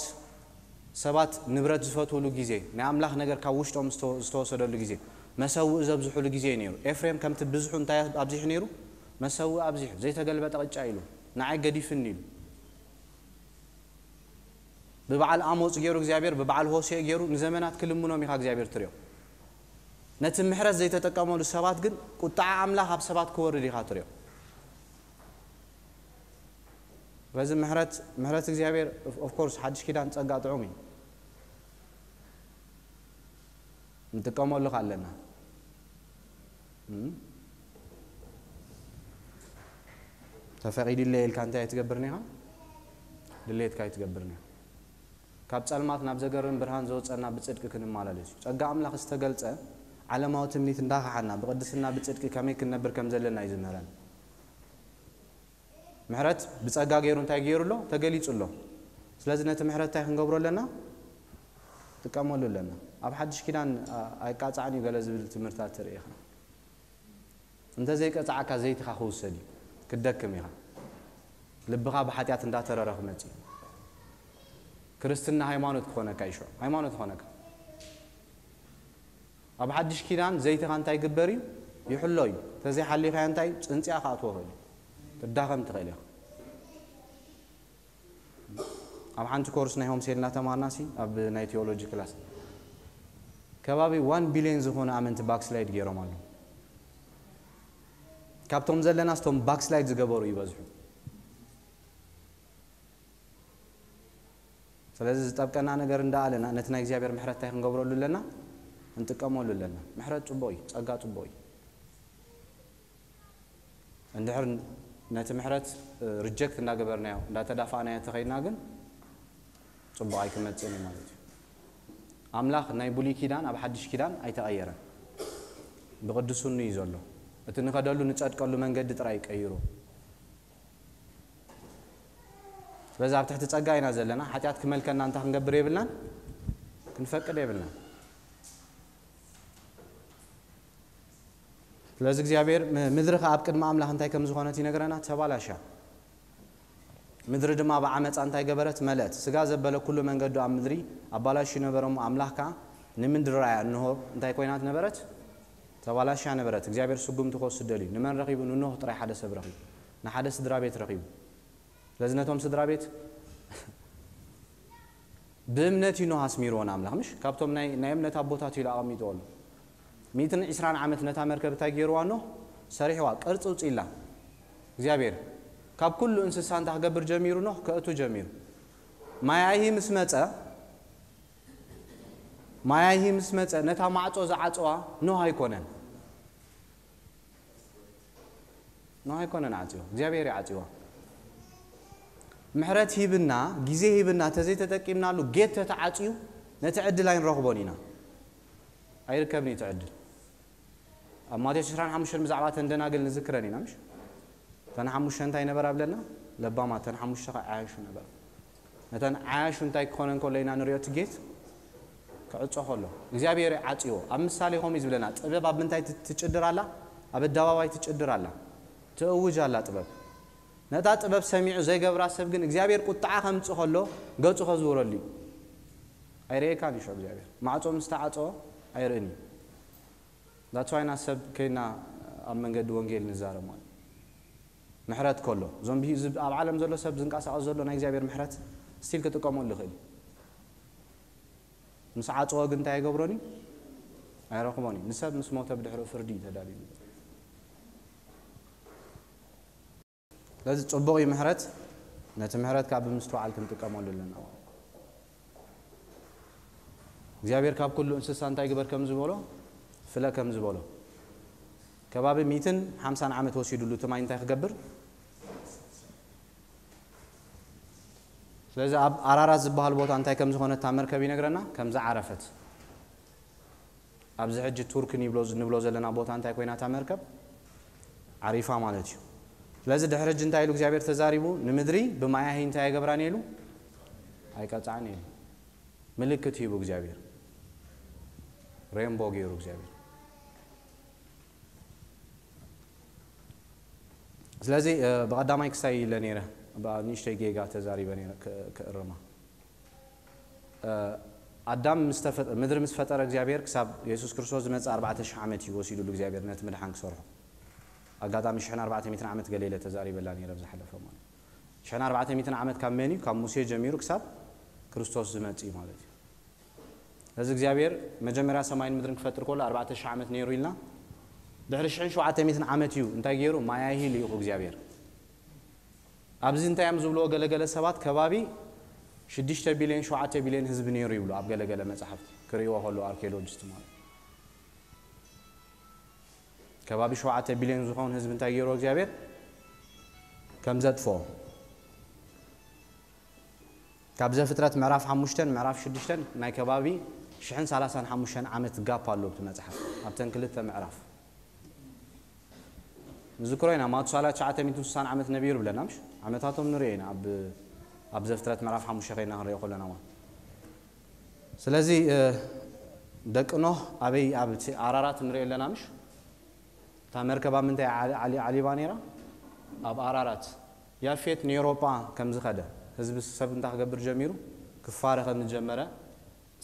ሰባት ንብረት ዝፈትውሉ ግዜ ናይ ኣምላኽ ነገር ካብ ውሽጦም ዝተወሰደሉ ግዜ መሰውእ ዘብዝሑሉ ግዜ እዩ ነይሩ። ኤፍሬም ከምቲ ብዝሑ እንታይ ኣብዚሑ ነይሩ? መሰውእ ኣብዚሑ ዘይተገልበጠ ቅጫ ኢሉ ንዓይ ገዲፍኒ ኢሉ። ብበዓል ኣሞጽ ገይሩ እግዚኣብሔር ብበዓል ሆሴእ ገይሩ ንዘመናት ክልምኖም ኢኻ እግዚኣብሔር ትሪኦ። ነቲ ምሕረት ዘይተጠቀመሉ ሰባት ግን ቁጣዓ ኣምላኽ ኣብ ሰባት ክወርድ ኢኻ ትሪኦ። በዚ ምሕረት ምሕረት እግዚኣብሔር ኦፍኮርስ ሓድሽ ኪዳን ጸጋ ጥዑም እዩ። ንጥቀመሉ ከ ኣለና ተፈቒዱለይ ኢልካ እንታይ ኣይትገብርን ኢኻ? ድሌትካ ኣይትገብርን ኢኻ። ካብ ጸልማት ናብ ዘገርም ብርሃን ዘውጸና ብጽድቂ ክንመላለስ እዩ። ጸጋ ኣምላኽ ዝተገልጸ ዓለማዊ ትምኒት እንዳኸሓና ብቕድስና ብጽድቂ ከመይ ክንነብር ከም ዘለና እዩ ዝምህረን። ምሕረት ብጸጋ ገይሩ እንታይ ገይሩ ኣሎ? ተገሊጹ ኣሎ። ስለዚ ነቲ ምሕረት እንታይ ክንገብሮ ኣለና? ጥቀመሉ ኣለና። ኣብ ሓድሽ ኪዳን ኣይቃጻዕን እዩ ገለ ዝብል ትምህርታት ትርኢ ኢኻ። እንተዘይቀጻዕካ ዘይትኻ ክውሰድ እዩ። ክትደክም ኢኻ። ልብኻ ብሓጢኣት እንዳተረረ ክመጽእ እዩ። ክርስትና ሃይማኖት ክኾነካ እዩ ሽዑ። ሃይማኖት ክኾነካ። ኣብ ሓድሽ ኪዳን ዘይትኻ እንታይ ግበር እዩ? ይሕሎ እዩ። ተዘይሓሊኻዮ እንታይ ጽንጽያ ክኣትዎ ይኽእል እዩ። ትዳኸም ትኽእል ኢኻ። ኣብ ሓንቲ ኮርስ ናይ ሆምሴል እናተማርና ሲ ኣብ ናይ ቴዎሎጂ ክላስ ከባቢ ዋን ቢልዮን ዝኾነ ኣመንቲ ባክስላይድ ገይሮም ኣለዉ። ካብቶም ዘለና ስቶም ባክስላይድ ዝገበሩ ይበዝሑ። ስለዚ ዝጠብቀና ነገር እንዳኣለና ነቲ ናይ እግዚኣብሔር ምሕረት እንታይ ክንገብረሉ ኣለና? ክንጥቀመሉ ኣለና። ምሕረት ጽቡቕ እዩ፣ ጸጋ ጽቡቕ እዩ። እንድሕር ነቲ ምሕረት ሪጀክት እንዳገበርናዮ እንዳተዳፋእናዮ ተኸይድና ግን ጽቡቕ ኣይክመጽእን እዩ ማለት እዩ። ኣምላኽ ናይ ብሉይ ኪዳን ኣብ ሓድሽ ኪዳን ኣይተቐየረን። ብቕዱስኑ እዩ ዘሎ። እቲ ንኸደሉ ንጸድቀሉ መንገዲ ጥራይ ቀይሩ። ስለዚ ኣብ ትሕቲ ጸጋ ኢና ዘለና። ሓጢኣት ክመልከና እንታይ ክንገብር የብልናን፣ ክንፈቅድ የብልናን። ስለዚ እግዚኣብሔር ምድሪ ከኣ ኣብ ቅድሚ ኣምላኽ እንታይ ከም ዝኾነት ይነግረና፣ ተባላሻ። ምድሪ ድማ ብዓመፃ እንታይ ገበረት? መለእት። ስጋ ዘበለ ኩሉ መንገዱ ኣብ ምድሪ ኣባላሹ ነበረ እሞ ኣምላኽ ከኣ ንምድሪ ራእያ፣ እንሆ እንታይ ኮይናት ነበረት? ተባላሽያ ነበረት። እግዚኣብሔር ስጉምቲ ክወስድ ደልዩ። ንመን ረኺቡ? ንኖህ ጥራይ ሓደ ሰብ ረኺቡ። ንሓደ ስድራ ቤት ረኺቡ። ስለዚ ነቶም ስድራ ቤት ብእምነት እዩ ኖህ ኣስሚርዎ ንኣምላኽ፣ ምሽ? ካብቶም ናይ፣ ናይ እምነት ኣቦታት ኢሉ ኣቐሚጥዎ ኣሎ። ሚእትን ዕስራን ዓመት ነታ መርከብ እንታይ ገይርዋ? ኖህ ሰሪሕዋ፣ ቅርጺ ውፅኢላ። እግዚኣብሔር ካብ ኩሉ እንስሳ እንታይ ክገብር ጀሚሩ? ኖህ ከእቱ ጀሚሩ። ማያሂ ምስ መጸ፣ ማያሂ ምስ መጸ፣ ነታ ማዕጾ ዝዓጽዋ ኖህ ኣይኮነን። ኖህ ኣይኮነን ዓጽዎ፣ እግዚኣብሔር እዩ ዓጽዋ። ምሕረት ሂብና፣ ግዜ ሂብና፣ ተዘይተጠቂምናሉ ጌት ተተዓጽዩ፣ ነቲ ዕድል ኣይንረኽቦን ኢና። ኣይርከብን እዩ እቲ ዕድል። ኣብ ማቴዎስ ዕስራን ሓሙሽተን ብዛዕባ እተን ደናግል ንዝክረን ኢና፣ ምሽ? እተን ሓሙሽተ እንታይ ነበራ ብለና? ለባማ፣ እተን ሓሙሽተ ከ ዓያሹ ነበራ። ነተን ዓያሹ እንታይ ክኾነ እንከሎ ኢና ንሪኦ? እቲ ጌት ክዕጾ ከሎ። እግዚኣብሔር ዓጽዎ። ኣብ ምሳሌ ከምኡ እዩ ዝብለና። ጥበብ ኣብ ምንታይ ት-፣ ትጭድር ኣላ? ኣብ ኣደባባይ ትጭድር ኣላ። ትእውጅ ኣላ ጥበብ። ነታ ጥበብ ሰሚዑ ዘይገብራ ሰብ ግን እግዚኣብሔር ቁጥዓ ከምጽእ ከሎ ገጹ ከዝውረሉ እዩ። ኣይርእየካን እዩ ሽዑ እግዚኣብሔር። ማዕጾ ምስ ተዓጽዎ ኣይርእን እዩ። That's why ኢና ሰብ ከይና ኣብ መንገዲ ወንጌል ንዛረብ ማለት እዩ። ምሕረት ከሎ፣ እዞም ብሂ-፣ ዝብ-፣ ኣብ ዓለም ዘሎ ሰብ ዝንቀሳቐስ ዘሎ ናይ እግዚኣብሔር ምሕረት ስቲል ክጥቀመሉ ይኽእል እዩ። ምስ ዓጽዎ ግን እንታይ ኣይገብሮን እዩ? ኣይረኽቦን እዩ። ንሰብ ምስ ሞተ ብድሕሪኡ ፍርዲ እዩ ተዳልዩ። ስለዚ ጽቡቕ እዩ ምሕረት። ነቲ ምሕረት ከዓ ብምስትውዓል ክንጥቀመሉ ኣለና። እግዚኣብሔር ካብ ኩሉ እንስሳ እንታይ ግበር ከም ዝበሎ፣ ፍለ ከም ዝበሎ። ከባቢ ሚእትን ሓምሳን ዓመት ወሲዱሉ እቲ ማይ እንታይ ክገብር? ስለዚ ኣብ ኣራራት ዝበሃል ቦታ እንታይ ከም ዝኾነ እታ መርከብ ይነግረና፣ ከም ዝዓረፈት። ኣብዚ ሕጂ ቱርክ ንብሎ፣ ንብሎ ዘለና ቦታ እንታይ ኮይና እታ መርከብ? ዓሪፋ ማለት እዩ። ስለዚ ድሕሪ ሕጂ እንታይ ኢሉ እግዚኣብሔር ተዛሪቡ? ንምድሪ ብማያሂ እንታይ ኣይገብራን ኢሉ? ኣይቀጽዓን ኢሉ። ምልክት ሂቡ እግዚኣብሔር። ሬንቦ ገይሩ እግዚኣብሔር። ስለዚ፣ እ፣ ብቐዳማይ ክሳይ ኢለ ነይረ፣ ብኣ ንእሽተይ ጌጋ ተዛሪበ ነይረ፣ ክ-፣ ክእርማ። እ፣ ኣዳም ምስ ተፈጠ-፣ ምድሪ ምስ ፈጠረ እግዚኣብሔር ክሳብ የሱስ ክርስቶስ ዝመጽእ ኣርባዕተ ሽሕ ዓመት እዩ ወሲዱሉ እግዚኣብሔር ነቲ ምድሓን ክሰርሖ። ኣጋጣሚ ሽሕን ኣርባዕተ ሚእትን ዓመት ገለ ኢለ ተዛሪበላ ነይረ ኣብ ዝሓለፈ ማለት እዩ። ሽሕን ኣርባዕተ ሚእትን ዓመት ካብ መን እዩ? ካብ ሙሴ ጀሚሩ ክሳብ ክርስቶስ ዝመጽእ እዩ ማለት እዩ። እዚ እግዚኣብሔር መጀመርያ ሰማይን ምድርን ክፈጥር ከሎ ኣርባዕተ ሽሕ ዓመት ነይሩ ኢልና። ድሕሪ ሽሕን ሸውዓተ ሚእትን ዓመት እዩ እንታይ ገይሩ? ማያሂ ልኢኹ እግዚኣብሔር። ኣብዚ እንታይ እዮም ዝብልዎ ገለገለ ሰባት? ከባቢ ሽዱሽተ ቢልዮን ሸውዓተ ቢልዮን ህዝቢ ነይሩ ይብሉ ኣብ ገለገለ መጻሕፍቲ ክርእይዎ ከለዉ ኣርኪኦሎጂስት ማለት። ከባቢ ሸውዓተ ቢልዮን ዝኸውን ህዝቢ እንታይ ገይርዎ እግዚኣብሔር? ከም ዘጥፍኦ። ካብ ዘፍጥረት ምዕራፍ ሓሙሽተን ምዕራፍ ሽዱሽተን ናይ ከባቢ ሽሕን ሰላሳን ሓሙሽተን ዓመት ጋፕ ኣሎ ኣብቲ መጽሓፍ፣ ኣብተን ክልተ ምዕራፍ። ንዝክሮ ኢና፣ ማቱሳላ ትሽዓተ ሚእትን ስሳን ዓመት ነቢሩ ብለና፣ ምሽ? ዓመታቶም ንሪኦ ኢና ኣብ፣ ኣብ ዘፍጥረት ምዕራፍ ሓሙሽተ ከይና ክንሪኦ ከለና ማለት። ስለዚ፣ እ፣ ደቂ ኖህ ኣበይ? ኣብ እቲ ኣራራት ንሪኦ ኣለና፣ ምሽ? እታ መርከብ ኣብ ምንታይ ዓሊ-፣ ዓሊ-፣ ዓሊባ ነይራ? ኣብ ኣራራት። ያፌት ንኤውሮጳ ከም ዝኸደ፣ ህዝቢ ሰብ እንታይ ክገብር ጀሚሩ? ክፋረ ከም ዝጀመረ።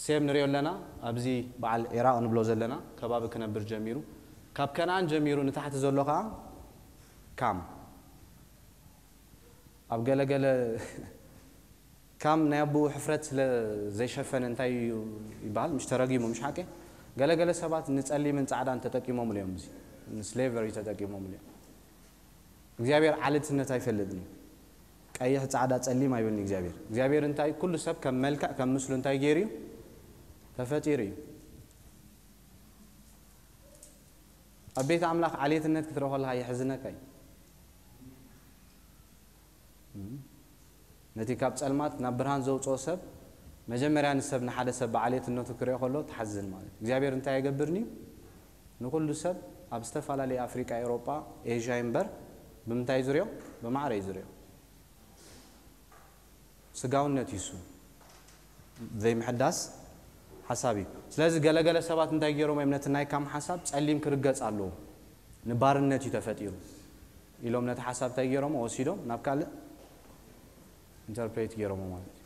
ሴም ንሪኦ ኣለና፣ ኣብዚ በዓል ዒራቕ ንብሎ ዘለና ከባቢ ክነብር ጀሚሩ። ካብ ከነኣን ጀሚሩ ንታሕቲ ዘሎ ኸዓ ካም። ኣብ ገለገለ ካም ናይ ኣቦኡ ሕፍረት ስለ ዘይሸፈነ እንታይ እዩ ይበሃል? ምሽ ተረጊሙ፣ ምሽ ሓቂ? ገለገለ ሰባት ንጸሊምን ጻዕዳን ተጠቂሞምሉ እዮም፣ እዚ ንስሌቨሪ ተጠቂሞምሉ እዮም። እግዚኣብሔር ዓሌትነት ኣይፈልጥን እዩ። ቀይሕ፣ ጻዕዳ፣ ጸሊም ኣይብልን እግዚኣብሔር። እግዚኣብሔር እንታይ፣ ኩሉ ሰብ ከም መልክዕ ከም ምስሉ እንታይ ገይሩ እዩ? ተፈጢሩ እዩ። ኣብ ቤት ኣምላኽ ዓሌትነት ክትረኽቦ ከለኻ የሕዝነካ እዩ። እም። ነቲ ካብ ጸልማት ናብ ብርሃን ዘውጽኦ ሰብ፣ መጀመርያ ንሰብ፣ ንሓደ ሰብ ብዓሌትነቱ ክሪኦ ከሎ ትሓዝን ማለት እዩ። እግዚኣብሔር እንታይ ኣይገብርን እዩ? ንኹሉ ሰብ ኣብ ዝተፈላለየ ኣፍሪቃ፣ ኤውሮጳ፣ ኤዥያ እምበር ብምንታይ እዩ ዝሪኦ? ብማዕረ እዩ ዝሪኦ። ስጋውነት እዩ እሱ። ዘይምሕዳስ ሓሳብ እዩ። ስለዚ ገለገለ ሰባት እንታይ ገይሮም እዮም? ነቲ ናይ ካም ሓሳብ ጸሊም ክርገጽ ኣለዎ፣ ንባርነት እዩ ተፈጢሩ ኢሎም ነቲ ሓሳብ እንታይ ገይሮም? ወሲዶም ናብ ካልእ ኢንተርፕሬት ገይሮሞ ማለት እዩ።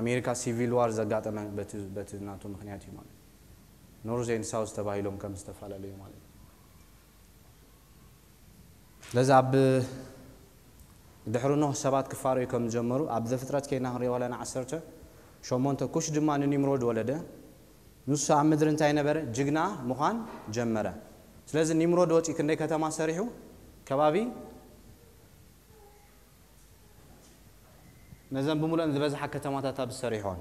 ኣሜሪካ ሲቪል ዋር ዘጋጠመ በቲ፣ በቲ ናቱ ምኽንያት እዩ ማለት እዩ። North and South ተባሂሎም ከም ዝተፈላለዩ ማለት እዩ። ስለዚ ኣብ ድሕሪ ኖህ ሰባት ክፋረዩ ከም ዝጀመሩ ኣብ ዘፍጥረት ከይና ክንሪኦ ከለና ዓሰርተ ሸሞንተ ኩሽ ድማ ንኒምሮድ ወለደ። ንሱ ኣብ ምድሪ እንታይ ነበረ? ጅግና ምዃን ጀመረ። ስለዚ ኒምሮድ ወፂኡ ክንደይ ከተማ ሰሪሑ? ከባቢ ነዘን ብምሉአን ዝበዝሓ ከተማታት ኣብ ዝሰሪሖን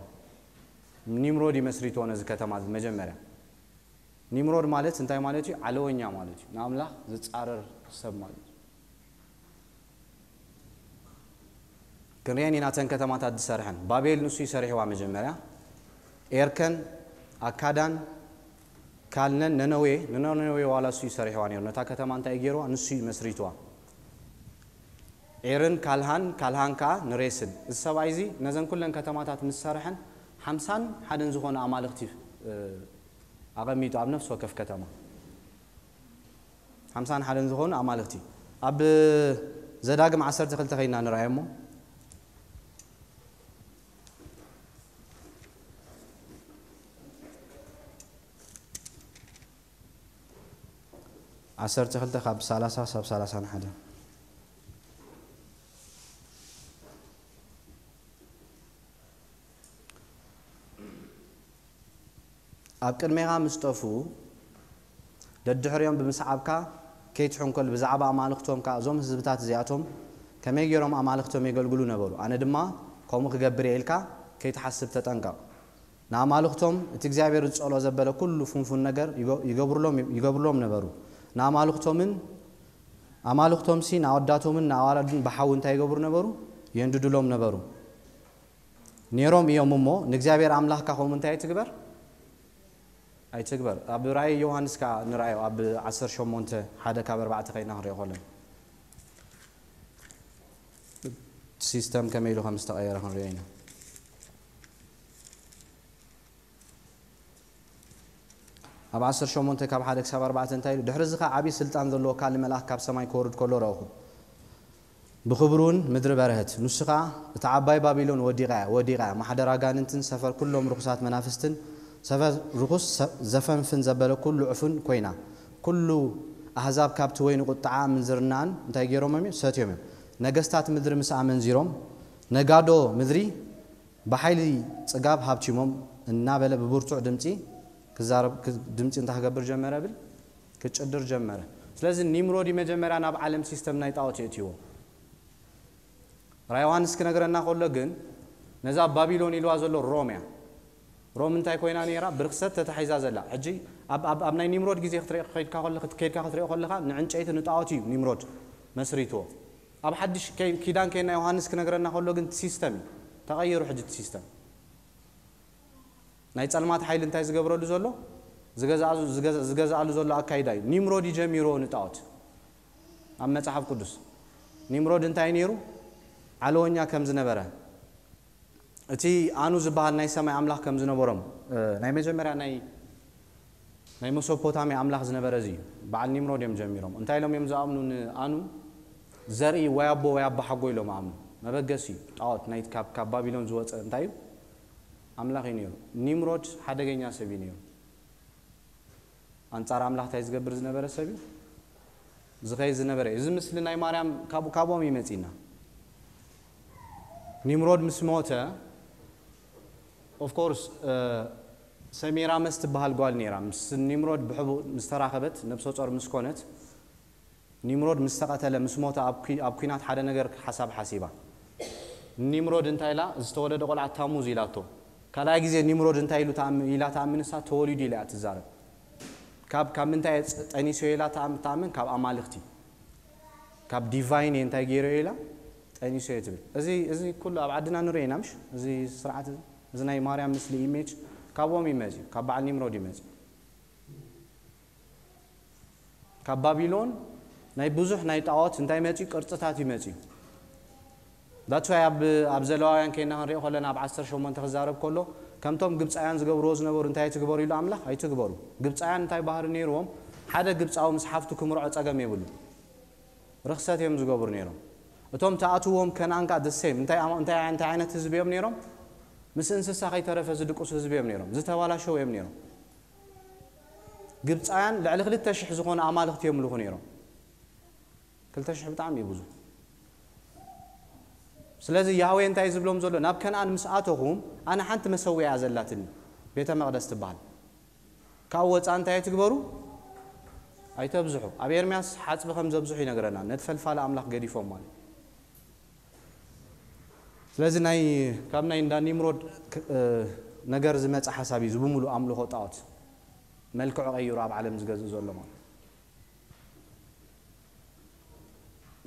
ኒምሮድ ይመስሪትዎ ነዚ ከተማ እዚ መጀመርያ። ኒምሮድ ማለት እንታይ ማለት እዩ? ዓለወኛ ማለት እዩ። ንኣምላኽ ዝጻረር ሰብ ማለት እዩ። ክንሪአን ኢና እተን ከተማታት ዝሰርሐን። ባቤል ንሱ ይሰሪሕዋ መጀመርያ። ኤርከን፣ ኣካዳን፣ ካልነን፣ ነነዌ፣ ንነነዌ ዋላ ንሱ ይሰሪሕዋ ነይሩ። ነታ ከተማ እንታይ ገይርዋ? ንሱ እዩ መስሪትዋ። ዒርን ካልሃን፣ ካልሃን ከኣ ንሬስን። እዚ ሰብኣይ እዚ ነዘን ኩለን ከተማታት ምስ ሰርሐን ሓምሳን ሓደን ዝኾኑ ኣማልኽቲ፣ እ፣ ኣቐሚጡ ኣብ ነፍሲ ወከፍ ከተማ። ሓምሳን ሓደን ዝኾኑ ኣማልኽቲ። ኣብ ዘዳግም ዓሰርተ ክልተ ከይና ንርኣዮ እሞ። ዓሰርተ ክልተ ካብ ሰላሳ ሳብ ሰላሳን ሓደን። ኣብ ቅድሜኻ ምስ ጠፍኡ፣ ደድሕሪኦም ብምስዓብካ ከይትሕንኮል፣ ብዛዕባ ኣማልኽቶም ከኣ፣ እዞም ህዝብታት እዚኣቶም ከመይ ገይሮም ኣማልኽቶም የገልግሉ ነበሩ፣ ኣነ ድማ ከምኡ ክገብር እየ ኢልካ ከይትሓስብ ተጠንቀቕ። ንኣማልኽቶም እቲ እግዚኣብሔር ዝጸልኦ ዘበለ ኩሉ ፍንፉን ነገር ይገ-፣ ይገብሩሎም፣ ይገብሩሎም ነበሩ። ንኣማልኽቶምን፣ ኣማልኽቶምሲ ንኣወዳቶምን ንኣዋልድን ብሓዊ እንታይ ይገብሩ ነበሩ? የንድዱሎም ነበሩ። ነይሮም እዮም እሞ፣ ንእግዚኣብሔር ኣምላኽካ ከምኡ እንታይ ኣይትግበር? ኣይትግበር። ኣብ ራእይ ዮሃንስ ከኣ ንርኣዮ፣ ኣብ ዓሰርተ ሸሞንተ ሓደ ካብ ኣርባዕተ ከይና ክንሪኦ ከለና። ሲስተም ከመይ ኢሉ ከም ዝተቐየረ ክንሪኦ ኢና። ኣብ ዓሰርተ ሸሞንተ ካብ ሓደ ክሳብ ኣርባዕተ እንታይ ኢሉ? ድሕሪ እዚ ኸኣ ዓብዪ ስልጣን ዘለዎ ካልእ መልኣኽ ካብ ሰማይ ክወርድ ከሎ ረእኹ። ብኽብሩ እውን ምድሪ በርሀት። ንሱ ኸኣ፣ "እታ ዓባይ ባቢሎን ወዲቓ እያ፣ ወዲቓ እያ፣ ማሕደር ኣጋንንትን ሰፈር ኩሎም ርኹሳት መናፍስትን፣ ሰፈር ርኹስ ሰ-፣ ዘፈንፍን ዘበለ ኩሉ ዕፉን ኮይና። ኩሉ ኣህዛብ ካብቲ ወይኒ ቁጥዓ ምንዝርናን እንታይ ገይሮም እዮም? ሰትዮም እዮም። ነገስታት ምድሪ ምስኣ ኣመንዚሮም፣ ነጋዶ ምድሪ ብሓይሊ ጽጋብ ሃብቲሞም" እናበለ ብብርቱዕ ድምጺ ክዛረብ፣ ክ-፣ ድምጺ እንታይ ክገብር ጀመረ ብል? ክጭድር ጀመረ። ስለዚ ኒምሮድ እዩ መጀመርያ ናብ ዓለም ሲስተም ናይ ጣዖት የእትይዎ። ራእይ ዮሃንስ ክነግረና ከሎ ግን ነዛ ባቢሎን ኢልዋ ዘሎ ሮም እያ። ሮም እንታይ ኮይና ነይራ? ብርክሰት ተታሒዛ ዘላ። ሕጂ ኣብ፣ ኣብ፣ ኣብ ናይ ኒምሮድ ግዜ ክትርኢ፣ ከይድካ ከሎ-፣ ከይድካ ክትሪኦ ከለኻ ንዕንጨይቲ ንጣዖት እዩ ኒምሮድ መስሪትዎ። ኣብ ሓድሽ ከይ-፣ ኪዳን ከይና ዮሃንስ ክነግረና ከሎ ግን ሲስተም እዩ። ተቐይሩ ሕጂ እቲ ሲስተም። ናይ ጸልማት ሓይሊ እንታይ ዝገብረሉ ዘሎ? ዝገዝኣሉ፣ ዝገዝ-፣ ዝገዝኣሉ ዘሎ ኣካይዳ እዩ። ኒምሮድ እዩ ጀሚርዎ ንጣዖት። ኣብ መጽሓፍ ቅዱስ ኒምሮድ እንታይ ነይሩ? ዓለወኛ ከም ዝነበረ፣ እቲ ኣኑ ዝበሃል ናይ ሰማይ ኣምላኽ ከም ዝነበሮም፣ እ፣ ናይ መጀመርያ ናይ፣ ናይ መሶፖታምያ ኣምላኽ ዝነበረ እዚ እዩ። በዓል ኒምሮድ እዮም ጀሚሮም። እንታይ ኢሎም እዮም ዝኣምኑ ንኣኑ? ዘርኢ ወይ ኣቦ ወይ ኣቦ ሓጎ ኢሎም ኣምኑ። መበገሲ እዩ። ጣዖት ናይ ካብ፣ ካብ ባቢሎን ዝወጸ እንታይ እዩ? ኣምላኽ እዩ ነይሩ። ኒምሮድ ሓደገኛ ሰብ እዩ ነይሩ። ኣንጻር ኣምላኽ እንታይ ዝገብር ዝነበረ ሰብ እዩ? ዝኸይድ ዝነበረ እዩ። እዚ ምስሊ ናይ ማርያም ካብ-፣ ካብኦም እዩ መጺና። ኒምሮድ ምስ ሞተ፣ ኦፍ ኮርስ፣ እ፣ ሰሚራመስ ትበሃል ጓል ነይራ። ምስ ኒምሮድ ብሕቡእ ምስ ተራኸበት፣ ነብሰ ጾር ምስ ኮነት፣ ኒምሮድ ምስ ተቐተለ፣ ምስ ሞተ፣ ኣብ ኩ-፣ ኣብ ኲናት ሓደ ነገር ሓሳብ ሓሲባ። ኒምሮድ እንታይ ኢላ? ዝተወለደ ቆልዓ ታሙዝ ኢላቶ። ካልኣይ ግዜ ኒምሮድ እንታይ ኢሉ ተኣም-፣ ኢላ ተኣምን? ንሳ ተወሊዱ ኢላ እያ ትዛረብ። ካብ፣ ካብ ምንታይ እየ ጸ-፣ ጠኒሰዮ ኢላ ተኣም-፣ ተኣምን? ካብ ኣማልኽቲ። ካብ ዲቫይን እየ እንታይ ገይረዮ ኢላ ጠኒሰዮ ትብል። እዚ፣ እዚ ኩሉ ኣብ ዓድና ንሪኦ ኢና፣ ምሽ? እዚ ስርዓት እዚ፣ እዚ ናይ ማርያም ምስሊ ኢሜጅ ካብኦም ይመጽእ እዩ፣ ካብ በዓል ኒምሮድ ይመጽእ እዩ። ካብ ባቢሎን ናይ ብዙሕ ናይ ጣዖት እንታይ መጽዩ? ቅርጽታት ይመጽዩ። That's why ኣብ፣ ኣብ ዘለዋውያን ከይና ክንሪኦ ከለና ኣብ ዓሰርተ ሸሞንተ ክዛረብ ከሎ፣ ከምቶም ግብጻውያን ዝገብርዎ ዝነበሩ እንታይ ኣይትግበሩ ኢሉ ኣምላኽ? ኣይትግበሩ። ግብጻውያን እንታይ ባህሪ ነይርዎም? ሓደ ግብጻዊ ምስ ሓፍቱ ክምርዖ ጸገም የብሉ። ርኽሰት እዮም ዝገብሩ ነይሮም። እቶም ተኣትዎም ከነኣን ከኣ the same። እንታይ ኣማ-፣ እንታይ፣ እንታይ ዓይነት ህዝቢ እዮም ነይሮም? ምስ እንስሳ ከይተረፈ ዝድቅሱ ህዝቢ እዮም ነይሮም። ዝተባላሸው እዮም ነይሮም። ግብፃውያን ልዕሊ ክልተ ሽሕ ዝኾኑ ኣማልኽቲ የምልኹ ነይሮም። ክልተ ሽሕ ብጣዕሚ እዩ ብዙ። ስለዚ ያህዌ እንታይ ዝብሎም ዘሎ? ናብ ከነኣን ምስ ኣተኹም ኣነ ሓንቲ መሰዊያ እያ ዘላትኒ፣ ቤተ መቕደስ ትበሃል። ካብ ወፃ እንታይ ትግበሩ? ኣይተብዝሑ። ኣብ ኤርምያስ ሓፅቢ ከም ዘብዝሑ ይነግረና። ነቲ ፈልፋሊ ኣምላኽ ገዲፎም ማለት እዩ። ስለዚ ናይ ካብ ናይ እንዳ ኒምሮድ ክ- እ፣ ነገር ዝመፀ ሓሳብ እዩ። እዚ ብምሉእ ኣምልኾ ጣዖት መልክዑ ቀይሩ ኣብ ዓለም ዝገዝእ ዘሎ ማለት እዩ።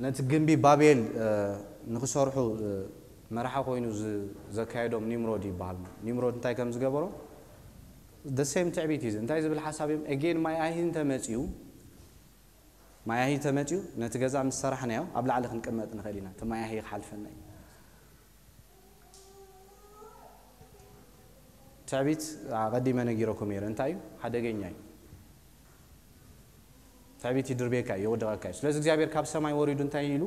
ነቲ ግንቢ ባቤል ንክሰርሑ መራሒ ኮይኑ ዘካየዶም ኒምሮድ ይበሃል። ኒምሮድ እንታይ ከም ዝገበሮ ደሴም ትዕቢት እዩ። እንታይ ዝብል ሓሳብ እዮም? ኤጌን ማይ ኣይሂ እንተመፅኡ፣ ማይ ኣይሂ ተመፅኡ፣ ነቲ ገዛ ምስ ሰራሕናዮ ኣብ ላዕሊ ክንቅመጥ ንኽእል ኢና፣ እቲ ማይ ኣይሂ ክሓልፈና እዩ። ትዕቢት ኣቐዲመ ነጊረኩም እየ፣ እንታይ እዩ? ሓደገኛ እዩ። ትዕቢት ይድርቤካ እዩ፣ የወድቐካ እዩ። ስለዚ እግዚኣብሔር ካብ ሰማይ ወሪዱ እንታይ ኢሉ?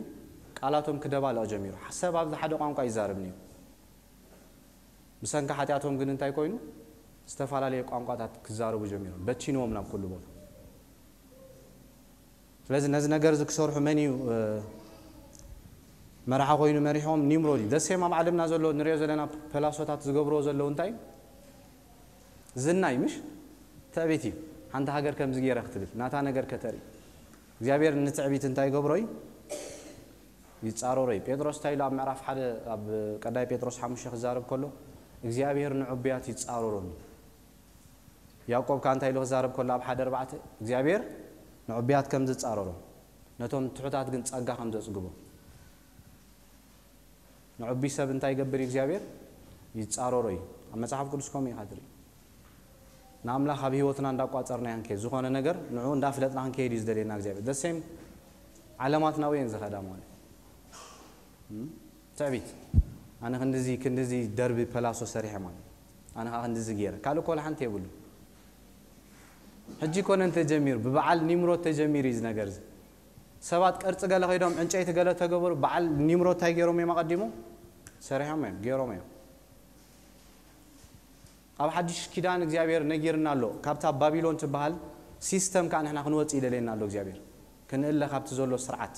ቃላቶም ክደባለቕ ጀሚሩ። ሰብ ኣብዚ ሓደ ቋንቋ ይዛረብ ነይሩ። ብሰንኪ ሓጢኣቶም ግን እንታይ ኮይኑ? ዝተፈላለየ ቋንቋታት ክዛረቡ ጀሚሮም፣ በቲንዎም ናብ ኩሉ ቦታ። ስለዚ ነዚ ነገር እዚ ክሰርሑ መን እዩ መራሒ ኮይኑ መሪሖም? ኒምሮድ እዩ። ደሴም ኣብ ዓለምና ዘሎ ንሪኦ ዘለና ፐላሶታት ዝገብርዎ ዘለዉ እንታይ እዩ? ዝና እዩ፣ ምሽ? ትዕቢት እዩ። ሓንቲ ሃገር ከምዚ ገይረ ክትብል ናታ ነገር ከተርኢ። እግዚኣብሔር ንትዕቢት እንታይ ይገብሮ እዩ? ይፃረሮ እዩ። ጴጥሮስ እንታይ ኢሉ ኣብ ምዕራፍ ሓደ ኣብ ቀዳይ ጴጥሮስ ሓሙሽተ ክዛረብ ከሎ እግዚኣብሔር ንዕቡያት ይፃረሮም እዩ። ያዕቆብ ከኣ እንታይ ኢሉ ክዛረብ ከሎ ኣብ ሓደ ኣርባዕተ እግዚኣብሔር ንዕቡያት ከም ዝፃረሮም ነቶም ትሑታት ግን ጸጋ ከም ዘጽግቦም። ንዕቡይ ሰብ እንታይ ይገብር እዩ እግዚኣብሔር? ይጻረሮ እዩ። ኣብ መጽሓፍ ቅዱስ ከምኡ ኢኻ ትርኢ። ንኣምላኽ ኣብ ህይወትና እንዳቋጸርናዮ ክንከይድ፣ ዝኾነ ነገር ንዕኡ እንዳፍለጥና ክንከይድ እዩ ዝደልየና እግዚኣብሔር። The same ዓለማትና ወየን ዝኸዳ ማለት እዩ። ትዕቢት ኣነ ክንድዚ ክንድዚ ደርቢ ፐላሶ ሰሪሐ ማለት ኣነ ከዓ ክንድዚ ገይረ ካልእ ኮላ ሓንቲ የብሉ። ሕጂ ኮነ እንተጀሚሩ ብበዓል ኒምሮድ ተጀሚሩ እዩ ዝነገር እዚ ሰባት ቅርፂ ገለ ከይዶም ዕንጨይቲ ገለ ተገበሩ በዓል ኒምሮድ እንታይ ገይሮም እዮም ኣቐዲሙ ሰሪሖም እዮም ገይሮም እዮም። ኣብ ሓድሽ ኪዳን እግዚኣብሔር ነጊርና ኣሎ። ካብታ ባቢሎን ትበሃል ሲስተም ከዓ ንሕና ክንወፅእ ይደልየና ኣሎ እግዚኣብሔር። ክንእለ ካብቲ ዘሎ ስርዓት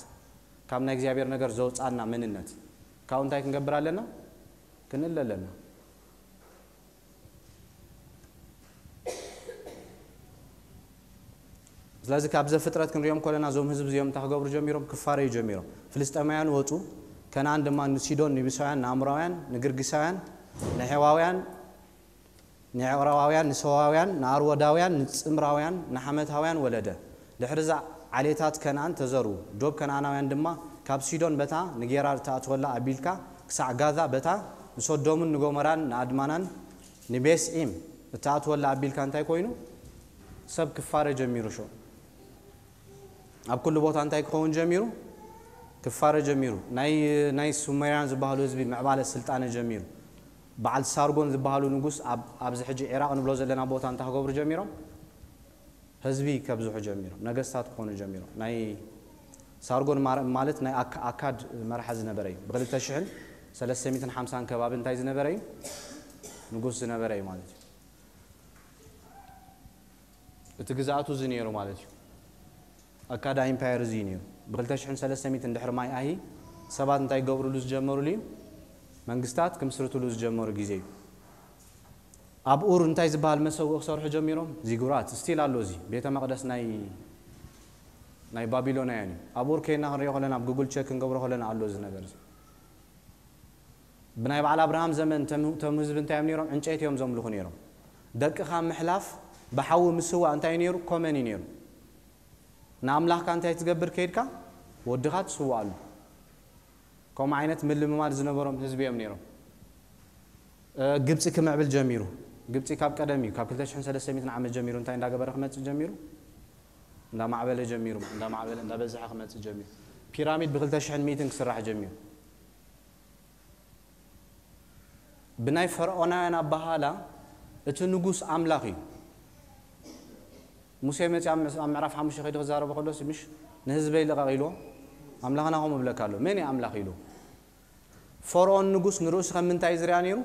ካብ ናይ እግዚኣብሔር ነገር ዘውፃና መንነት ካብኡ እንታይ ክንገብር ኣለና? ክንእለ ኣለና። ስለዚ ካብ ዘፍጥረት ክንሪኦም ከለና እዞም ህዝቢ እዚኦም እንታይ ክገብሩ ጀሚሮም? ክፋረዩ ጀሚሮም። ፍልስጤማውያን ወፁ። ከነኣን ድማ ንሲዶን ንቢሳውያን ንኣምራውያን ንግርጊሳውያን ንሔዋውያን ንኤዕራዋውያን ንሰዋውያን ንኣርወዳውያን ንጽምራውያን ንሓመታውያን ወለደ። ድሕሪ እዛ ዓሌታት ከነኣን ተዘርኡ። ዶብ ከነኣናውያን ድማ ካብ ሲዶን በታ ንጌራር እትኣትወላ ኣቢልካ ክሳዕ ጋዛ በታ ንሶዶምን ንጎመራን ንኣድማናን ንቤስዒም እትኣትወላ ኣቢልካ እንታይ ኮይኑ ሰብ ክፋረ ጀሚሩ ሾ ኣብ ኩሉ ቦታ እንታይ ክኸውን ጀሚሩ? ክፋረ ጀሚሩ። ናይ ናይ ሱሜርያን ዝበሃሉ ህዝቢ ምዕባለ ስልጣነ ጀሚሩ። በዓል ሳርጎን ዝበሃሉ ንጉስ ኣብ ኣብዚ ሕጂ ዒራቕ ንብሎ ዘለና ቦታ እንታይ ክገብሩ ጀሚሮም? ህዝቢ ከብዝሑ ጀሚሮም፣ ነገስታት ክኾኑ ጀሚሮም። ናይ ሳርጎን ማረ- ማለት ናይ ኣካ- ኣካድ መርሓ ዝነበረ እዩ። ብ ክልተ ሽሕን ሰለስተ ሚእትን ሓምሳን ከባቢ እንታይ ዝነበረ እዩ? ንጉስ ዝነበረ እዩ ማለት እዩ። እቲ ግዝኣቱ እዚ ነይሩ ማለት እዩ። ኣካዳ ኢምፓየር እዚ እዩ ነይሩ። ብ ክልተ ሽሕን ሰለስተ ሚእትን ድሕሪ ማይ ኣሂ ሰባት እንታይ ክገብርሉ ዝጀመሩሉ እዩ? መንግስታት ክምስርትሉ ዝጀመሩ ግዜ እዩ። ኣብ ኡር እንታይ ዝበሃል መሰውኢ ክሰርሑ ጀሚሮም? ዚጉራት ስቲል ኣሎ። እዚ ቤተ መቕደስ ናይ ናይ ባቢሎናውያን እዩ። ኣብ ኡር ከይና ክንሪኦ ከለና ኣብ ጉግል ቸክ ክንገብሮ ከለና ኣሎ እዚ ነገር እዚ። ብናይ በዓል ኣብርሃም ዘመን ተም- ተም ህዝቢ እንታይ እዮም ነይሮም? ዕንጨይቲ እዮም ዘምልኹ ነይሮም። ደቅኻ ምሕላፍ ብሓዊ ምስዋእ እንታይ እዩ ነይሩ? ኮመን እዩ ነይሩ። ንኣምላኽካ እንታይ ትገብር ከይድካ ወድኻ ትስዋኣሉ። ከምኡ ዓይነት ምልምማድ ዝነበሮም ህዝቢ እዮም ነይሮም። እ፣ ግብፂ ክምዕብል ጀሚሩ። ግብፂ ካብ ቀደም እዩ፣ ካብ ክልተ ሽሕን ሰለስተ ሚእትን ዓመት ጀሚሩ እንታይ እንዳገበረ ክመፅእ ጀሚሩ? እንዳማዕበለ ጀሚሩ፣ እንዳማዕበለ እንዳበዝሐ ክመፅእ ጀሚሩ። ፒራሚድ ብ ክልተ ሽሕን ሚእትን ክስራሕ ጀሚሩ። ብናይ ፈርዖናውያን ኣባሃላ እቲ ንጉስ ኣምላኽ እዩ። ሙሴ መፂ ኣብ ምዕ- ኣብ ምዕራፍ ሓሙሽተ ከይዱ ክዛረቦ ከሎስ ምሽ ንህዝበይ ልቐቕ ኢልዎ ኣምላኽና ከምኡ ብለካ ኣሎ። መን እዩ ኣምላኽ ኢሉ? ፈርዖን ንጉስ ንርእሱ ከም ምንታይ እዩ ዝሪኣ ነይሩ?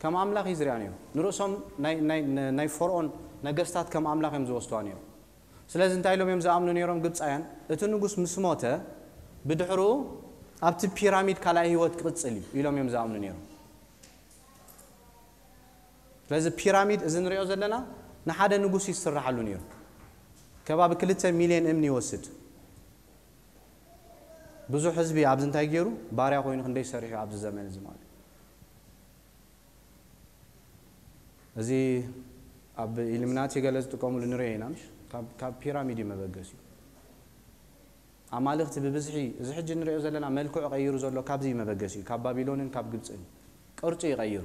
ከም ኣምላኽ እዩ ዝሪኣ ነይሩ። ንርእሶም ናይ- ናይ- ናይ ፈርዖን ነገስታት ከም ኣምላኽ እዮም ዝወስድዋ ነይሩ። ስለዚ እንታይ ኢሎም እዮም ዝኣምኑ ነይሮም ግብፃውያን? እቲ ንጉስ ምስ ሞተ ብድሕሩ ኣብቲ ፒራሚድ ካልኣይ ህይወት ክቕፅል እዩ ኢሎም እዮም ዝኣምኑ ነይሮም። ስለዚ ፒራሚድ እዚ ንሪኦ ዘለና ንሓደ ንጉስ ይስራሓሉ ነይሩ። ከባቢ ክልተ ሚልዮን እምኒ ይወስድ። ብዙሕ ህዝቢ ኣብዚ እንታይ ገይሩ? ባርያ ኮይኑ ክንደይ ሰሪሑ ኣብዚ ዘመን እዚ ማለት እዩ። እዚ ኣብ ኢሉሚናቲ ገለ ዝጥቀሙሉ ንሪኦ ኢና፣ ምሽ? ካብ ፒራሚድ እዩ መበገሲኡ። ኣማልኽቲ ብብዝሒ፣ እዚ ሕጂ ንሪኦ ዘለና መልክዑ ቀይሩ ዘሎ ካብዚ እዩ መበገሲኡ፣ ካብ ባቢሎንን ካብ ግብፅን ቅርፁ ይቐይሩ።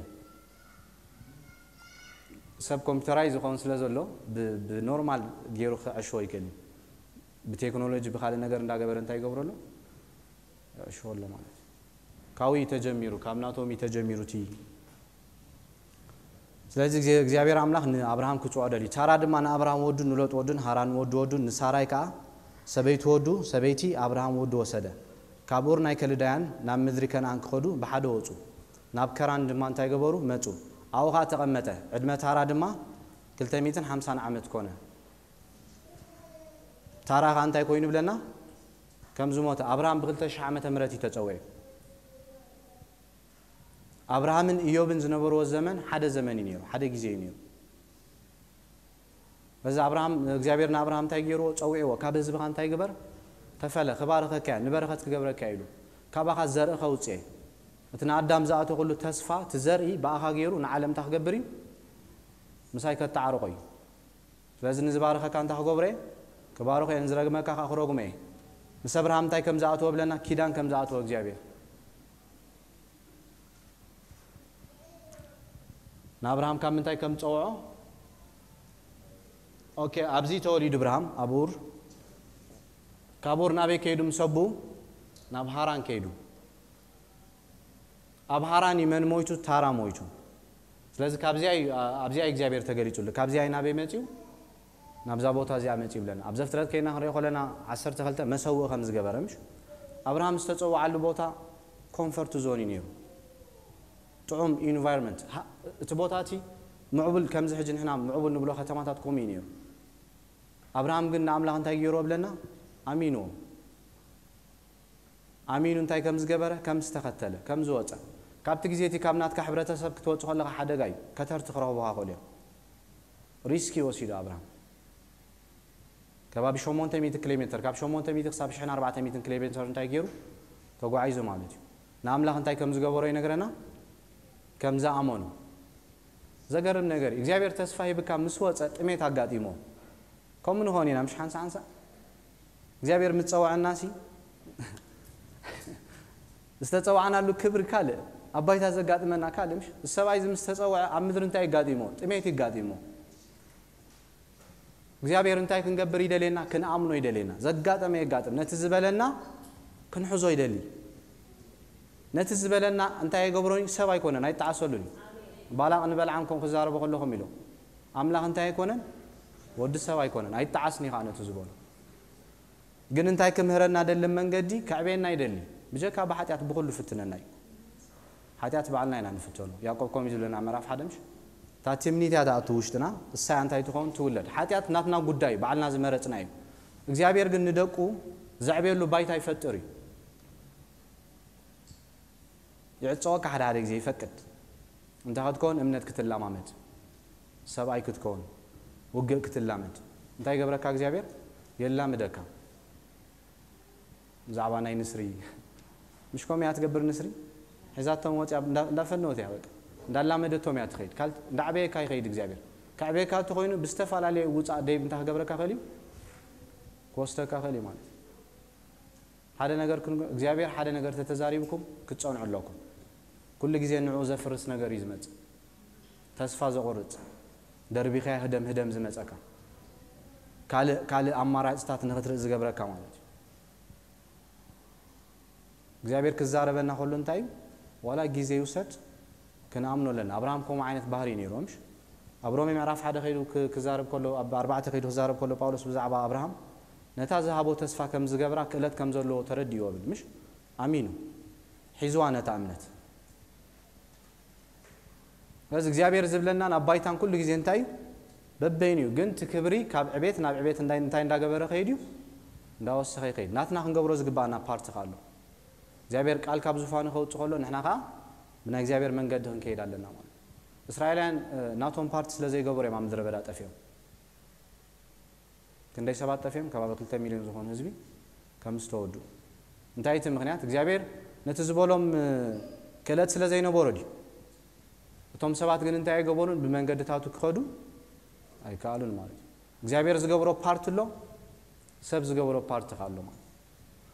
ሰብ ኮምፒውተራይ ዝኸውን ስለ ዘሎ ብኖርማል ገይሩ ክዕሽዎ ይክእል እዩ። ብቴክኖሎጂ ብካልእ ነገር እንዳገበረ እንታይ ይገብረሉ? ይዕሽዎ ኣሎ ማለት እዩ። ካብኡ እዩ ተጀሚሩ፣ ካብ ናቶም እዩ ተጀሚሩ እቲ። ስለዚ እግዚኣብሔር ኣምላኽ ንኣብርሃም ክፅውዖ ደልዩ። ታራ ድማ ንኣብርሃም ወዱን ንሎጥ ወዱን ሃራን ወዱ ወዱን ንሳራይ ከዓ ሰበይቲ ወዱ ሰበይቲ ኣብርሃም ወዱ ወሰደ። ካብ ኡር ናይ ከልዳያን ናብ ምድሪ ከነኣን ክኸዱ ብሓደ ወፁ። ናብ ከራን ድማ እንታይ ገበሩ? መፁ። ኣብኡ ከዓ ተቐመጠ። ዕድመ ታራ ድማ ክልተ ሚእትን ሓምሳን ዓመት ኮነ። ታራ ከዓ እንታይ ኮይኑ ይብለና? ከም ዝሞተ ኣብርሃም ብክልተ ሽሕ ዓመተ ምህረት እዩ ተፀውዒ። ኣብርሃምን ኢዮብን ዝነበርዎ ዘመን ሓደ ዘመን እዩ ነይሩ፣ ሓደ ግዜ እዩ ነይሩ። በዚ ኣብርሃም እግዚኣብሔር ንኣብርሃም እንታይ ገይርዎ? ፀዊዕዎ። ካብ ህዝብኻ እንታይ ግበር? ተፈለ፣ ክባርኸካ እየ፣ ንበረኸት ክገብረካ እየ ኢሉ። ካባኻ ዘርኢ ከውፅእ እየ። እቲ ንኣዳም ዝኣቶ ኩሉ ተስፋ፣ እቲ ዘርኢ ብኣኻ ገይሩ ንዓለም እንታይ ክገብር እዩ? ምሳይ ከተዓርቆ እዩ። ስለዚ ንዝባርኸካ እንታይ ክገብሮ እየ? ክባርኾ እየ፣ ንዝረግመካ ከዓ ክረግሞ እየ። ምስ ኣብርሃም እንታይ ከም ዝኣተወ ብለና? ኪዳን ከም ዝኣተወ እግዚኣብሔር። ንኣብርሃም ካብ ምንታይ ከም ዝፀውዖ? ኦኬ፣ ኣብዚ ተወሊዱ ብርሃም ኣብ ኡር። ካብ ኡር ናበይ ከይዱ? ምስ ኣቡ ናብ ሃራን ከይዱ። ኣብ ሃራን እዩ መን ሞይቱ? ታራ ሞይቱ። ስለዚ ካብዚኣ እዩ፣ ኣብዚኣ እዩ እግዚኣብሔር ተገሊጹሉ። ካብዚኣ እዩ ናበይ መጺኡ? ናብዛ ቦታ እዚኣ መጺኡ ይብለና። ኣብ ዘፍጥረት ከይና ክንሪኦ ከለና ዓሰርተ ክልተ መሰውኢ ከም ዝገበረ፣ ምሽ ኣብርሃም ዝተጸውዓሉ ቦታ ኮንፈርት ዞን እዩ ነይሩ። ጥዑም ኢንቫይሮንመንት። ሃ-፣ እቲ ቦታ እቲ ምዕቡል፣ ከምዚ ሕጂ ንሕና ምዕቡል ንብሎ ከተማታት ከምኡ እዩ ነይሩ። ኣብርሃም ግን ንኣምላኽ እንታይ ገይርዎ ብለና? ኣሚንዎ። ኣሚኑ እንታይ ከም ዝገበረ፣ ከም ዝተኸተለ፣ ከም ዝወጸ። ካብቲ ግዜ እቲ ካብ ናትካ ሕብረተሰብ ክትወጽእ ከለኻ ሓደጋ እዩ። ከተርቲ ክረኽቡኻ ይኽእሉ እዮም። ሪስክ እዩ ወሲዱ ኣብርሃም። ከባቢ ሸሞንተ ሚእቲ ኪሎ ሜትር፣ ካብ ሸሞንተ ሚእቲ ክሳብ ሽሕን ኣርባዕተ ሚእትን ኪሎ ሜትር እንታይ ገይሩ? ተጓዒዙ ማለት እዩ። ንኣምላኽ እንታይ ከም ዝገበሮ ይነግረና? ከም ዝኣመኑ። ዘገርም ነገር እዩ። እግዚኣብሔር ተስፋ ሂብካ ምስ ወጸ ጥሜት ኣጋጢሞ። ከምኡ ንኾን ኢና፣ ምሽ ሓንሳ ሓንሳ እግዚኣብሔር ምስ ጸውዐና ሲ ዝተጸውዓናሉ ክብሪ ካልእ፣ ኣብ ባይታ ዘጋጥመና ካልእ፣ ምሽ ሰብኣይ እዚ ምስ ተጸውዐ ኣብ ምድሪ እንታይ ይጋጢሞ? ጥሜት ይጋጢሞ። እግዚኣብሔር እንታይ ክንገብር ይደልየና? ክንኣምኖ ይደልየና። ዘጋጠመ የጋጥም። ነቲ ዝበለና ክንሕዞ ይደሊ። ነቲ ዝበለና እንታይ ኣይገብሮን እዩ? ሰብ ኣይኮነን፣ ኣይጠዓሰሉን እዩ። ባላቕ ንበልዓም ከም ክዛረቦ ከለኹም ኢሎ፣ ኣምላኽ እንታይ ኣይኮነን? ወዲ ሰብ ኣይኮነን። ኣይጠዓስን እዩ ከዓ ነቲ ዝበሎ። ግን እንታይ ክምህረና ደሊ? መንገዲ ከዕበየና ይደሊ። ብጀካ ብሓጢኣት ብኹሉ ፍትነና እዩ። ሓጢኣት ባዕልና ኢና ንፍተኖ። ያዕቆብ ከምኡ እዩ ዝብለና፣ ምዕራፍ ሓደ ምሽ? እታ ትምኒት እያ ትኣቱ ውሽጥና፣ እሳ እያ እንታይ ትኸውን? ትውለድ። ሓጢኣት ናትና ጉዳይ፣ ባዕልና ዝመረጽና እዩ። እግዚኣብሔር ግን ንደቁ ዘዕብየሉ ባይታ ይፈጥር እዩ። ይዕጸወካ፣ ሓደ ሓደ ግዜ ይፈቅድ። እንታይ ክትከውን? እምነት ክትላማመድ፣ ሰብኣይ ክትከውን፣ ውግእ ክትላመድ። እንታይ ይገብረካ እግዚኣብሔር? የላምደካ። ብዛዕባ ናይ ንስሪ፣ ምሽ ከምኡ እያ ትገብር ንስሪ? ሒዛቶም ወፂኣ፣ እንዳ-፣ እንዳፈነወት እያ በቃ። እንዳላመደቶም እያ ትኸይድ። ካል-፣ እንዳዕበየካ ይኸይድ እግዚኣብሔር። ከዕበየካ እንተኾይኑ ብዝተፈላለየ ውፃእ ደይብ እንታይ ክገብረካ ክእል እዩ? ክወስደካ ክእል እዩ ማለት እዩ። ሓደ ነገር ክን-፣ እግዚኣብሔር ሓደ ነገር ተተዛሪብኩም ክትጸንዑ ኣለኩም። ኩሉ ግዜ ንዕኡ ዘፍርስ ነገር እዩ ዝመጽእ። ተስፋ ዘቑርጽ፣ ደርቢኻዮ ህደም ህደም ዝመጸካ፣ ካልእ፣ ካልእ ኣማራጽታት ንኽትርኢ ዝገብረካ ማለት እዩ። እግዚኣብሔር ክዛረበና ከሎ እንታይ እዩ? ዋላ ግዜ ይውሰድ፣ ክንኣምኖ ኣለና። ኣብርሃም ከምኡ ዓይነት ባህሪ እዩ ነይሩ፣ ምሽ? ኣብ ሮሜ ምዕራፍ ሓደ ከይዱ ክ-፣ ክዛረብ ከሎ፣ ኣብ ኣርባዕተ ከይዱ ክዛረብ ከሎ ጳውሎስ ብዛዕባ ኣብርሃም ነታ ዝሃቦ ተስፋ ከም ዝገብራ ክእለት ከም ዘለዎ ተረዲእዎ ይብል፣ ምሽ? ኣሚኑ። ሒዝዋ ነታ እምነት። ስለዚ እግዚኣብሔር ዝብለና ናብ ባይታን ኩሉ ግዜ እንታይ እዩ? በበይኑ እዩ። ግን እቲ ክብሪ ካብ ዕቤት ናብ ዕቤት እንታይ እንታይ እንዳገበረ ከይድ እዩ? እንዳወሰኸ ይኸይድ። ናትና ክንገብሮ ዝግባኣና ፓርቲ ከ ኣሎ። እግዚኣብሔር ቃል ካብ ዙፋኑ ከውፅእ ከሎ ንሕና ከዓ ብናይ እግዚኣብሔር መንገዲ ክንከይድ ኣለና ማለት እዩ። እስራኤላውያን ናቶም ፓርቲ ስለ ዘይገበሩ እዮም ኣብ ምድረ በዳ ጠፊኦም። ክንደይ ሰባት ጠፊኦም? ከባቢ ክልተ ሚልዮን ዝኾኑ ህዝቢ ከም ዝተወዱ። እንታይ እቲ ምክንያት? እግዚኣብሔር ነቲ ዝበሎም ክእለት ስለ ዘይነበሮ ድዩ? እቶም ሰባት ግን እንታይ ኣይገበሩን? ብመንገድታቱ ክኸዱ ኣይከኣሉን ማለት እዩ። እግዚኣብሔር ዝገብሮ ፓርቲ ኣሎ፣ ሰብ ዝገብሮ ፓርቲ ከ ኣሎ ማለት እዩ።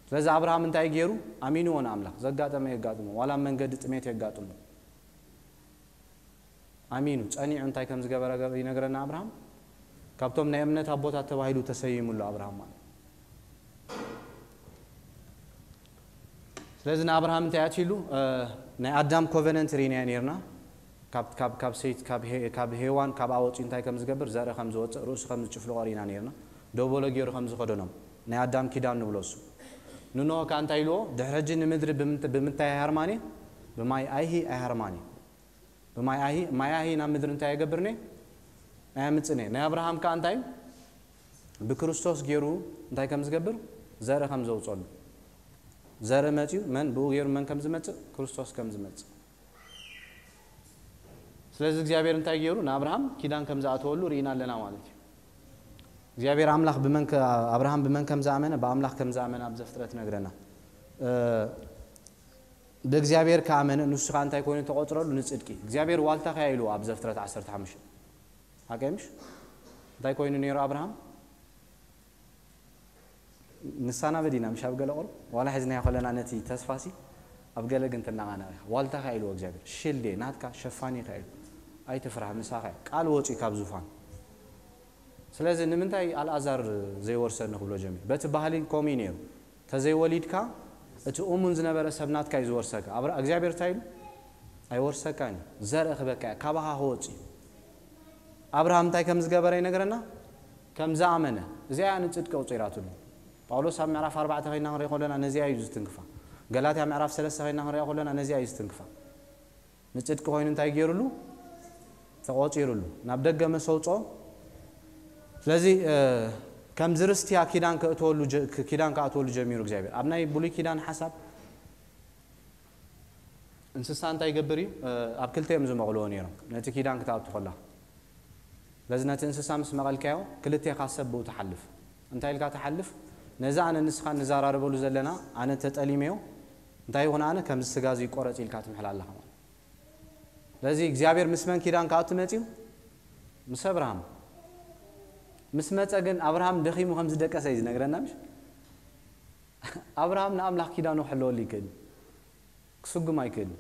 ስለዚ ኣብርሃም እንታይ ገይሩ? ኣሚንዎ ንኣምላኽ። ዘጋጠመ የጋጥሞ፣ ዋላ ኣብ መንገዲ ጥሜት የጋጥሞ፣ ኣሚኑ ጸኒዑ እንታይ ከም ዝገበረ ገ- ይነግረና ኣብርሃም። ካብቶም ናይ እምነት ኣቦታት ተባሂሉ ተሰይሙሉ ኣብርሃም ማለት። ስለዚ ንኣብርሃም እንታይ ኣትይሉ? ናይ ኣዳም ኮቨነንት ርኢናዮ ነርና። ካብ ካብ ካብ ሰይት ካብ ሄ- ካብ ሄዋን ካብ ኣወፂ እንታይ ከም ዝገብር፣ ዘርኢ ከም ዝወፅእ፣ ርእሱ ከም ዝጭፍልቆ ርኢና ነርና። ደበሎ ገይሩ ከም ዝኸደኖም ናይ ኣዳም ኪዳን ንብሎ እሱ። ንኖህ ከ እንታይ ኢልዎ? ድሕሪ ሕጂ ንምድሪ ብምት- ብምንታይ ኣይሃርማን እየ? ብማይ ኣይሂ ኣይሃርማን እየ። ብማይ ኣይሂ ማይ ኣይሂ ናብ ምድሪ እንታይ ኣይገብርን እየ? ኣየምፅን እየ። ናይ ኣብርሃም ከ እንታይ? ብክርስቶስ ገይሩ እንታይ ከም ዝገብር፣ ዘርኢ ከም ዘውፀሉ። ዘርኢ መፅዩ መን ብኡ ገይሩ መን ከም ዝመፅእ? ክርስቶስ ከም ዝመፅእ። ስለዚ እግዚኣብሔር እንታይ ገይሩ? ንኣብርሃም ኪዳን ከም ዝኣተወሉ ርኢና ኣለና ማለት እዩ። እግዚኣብሔር ኣምላኽ ብመን ከ- ኣብርሃም ብመን ከም ዝኣመነ፣ ብኣምላኽ ከም ዝኣመነ ኣብ ዘፍጥረት ነግረና። ብእግዚኣብሔር ከኣመነ ንሱ ከዓ እንታይ ኮይኑ ተቆፅረሉ? ንፅድቂ። እግዚኣብሔር ዋልታ ከያ ኢሉ ኣብ ዘፍጥረት ዓሰርተ ሓሙሽተ። ሓቀይ ምሽ? እንታይ ኮይኑ ነይሩ ኣብርሃም? ንሳና በዲና ምሽ ኣብ ገለ ቁሩብ ዋላ ሒዝናዮ ከለና ነቲ ተስፋሲ ኣብ ገለ ግን ትናቓነቕ ኢኻ። ዋልታ ከያ ኢልዎ እግዚኣብሔር። ሽልዴ ናትካ ሸፋኒ ከያ ኢሉ። ኣይትፍራህ ምሳኻ እዩ። ቃል ወፂኡ ካብ ዙፋን። ስለዚ ንምንታይ ኣልኣዛር ዘይወርሰኒ ክብሎ ጀሚሩ? በቲ ባህሊ ከምኡ እዩ ነይሩ። ተዘይወሊድካ እቲ እሙን ዝነበረ ሰብ ናትካ እዩ ዝወርሰካ። ኣብራ እግዚኣብሔር እንታይ ኢሉ? ኣይወርሰካን እዩ። ዘርኢ ክበካ እያ። ካባኻ ክወፅእ እዩ። ኣብርሃም እንታይ ከም ዝገበረ ይነግረና? ከም ዝኣመነ። እዚኣ እያ ንፅድቂ ኣውፂራትሉ። ጳውሎስ ኣብ ምዕራፍ ኣርባዕተ ኮይና ክንሪኦ ከለና ነዚኣ እዩ ዝትንክፋ። ገላትያ ምዕራፍ ሰለስተ ኮይና ክንሪኦ ከለና ነዚኣ እዩ ዝትንክፋ። ንፅድቂ ኮይኑ እንታይ ገይሩሉ? ተቆፂሩሉ። ናብ ደገ መሰውፆ። ስለዚ ከምዚ ርስቲያ ኪዳን ከእተወሉ ጀ- ኪዳን ከኣተወሉ ጀሚሩ እግዚኣብሔር። ኣብ ናይ ብሉይ ኪዳን ሓሳብ እንስሳ እንታይ ይገብር እዩ? ኣብ ክልተ እዮም ዝመቕልዎ ነይሮም ነቲ ኪዳን ክትኣቱ ከላ። ስለዚ ነቲ እንስሳ ምስ መቐልካዮ ክልቴኻ ሰብ ብኡ ትሓልፍ። እንታይ ኢልካ ትሓልፍ? ነዚ ኣነ ንስኻ ንዘራረበሉ ዘለና ኣነ ተጠሊመዮ እንታይ ይኹን ኣነ ከምዚ ስጋ እዚ ይቆረፅ ኢልካ ትምሕል ኣለኻ ማለት። ስለዚ እግዚኣብሔር ምስ መን ኪዳን ክኣቱ መፅዩ? ምስ ኣብርሃም። ምስ መፀ ግን ኣብርሃም ደኺሙ ከም ዝደቀሰ እዩ ዝነግረና ምሽ? ኣብርሃም ንኣምላኽ ኪዳኑ ክሕለወሉ ይክእል፣ ክስጉም ኣይክእል።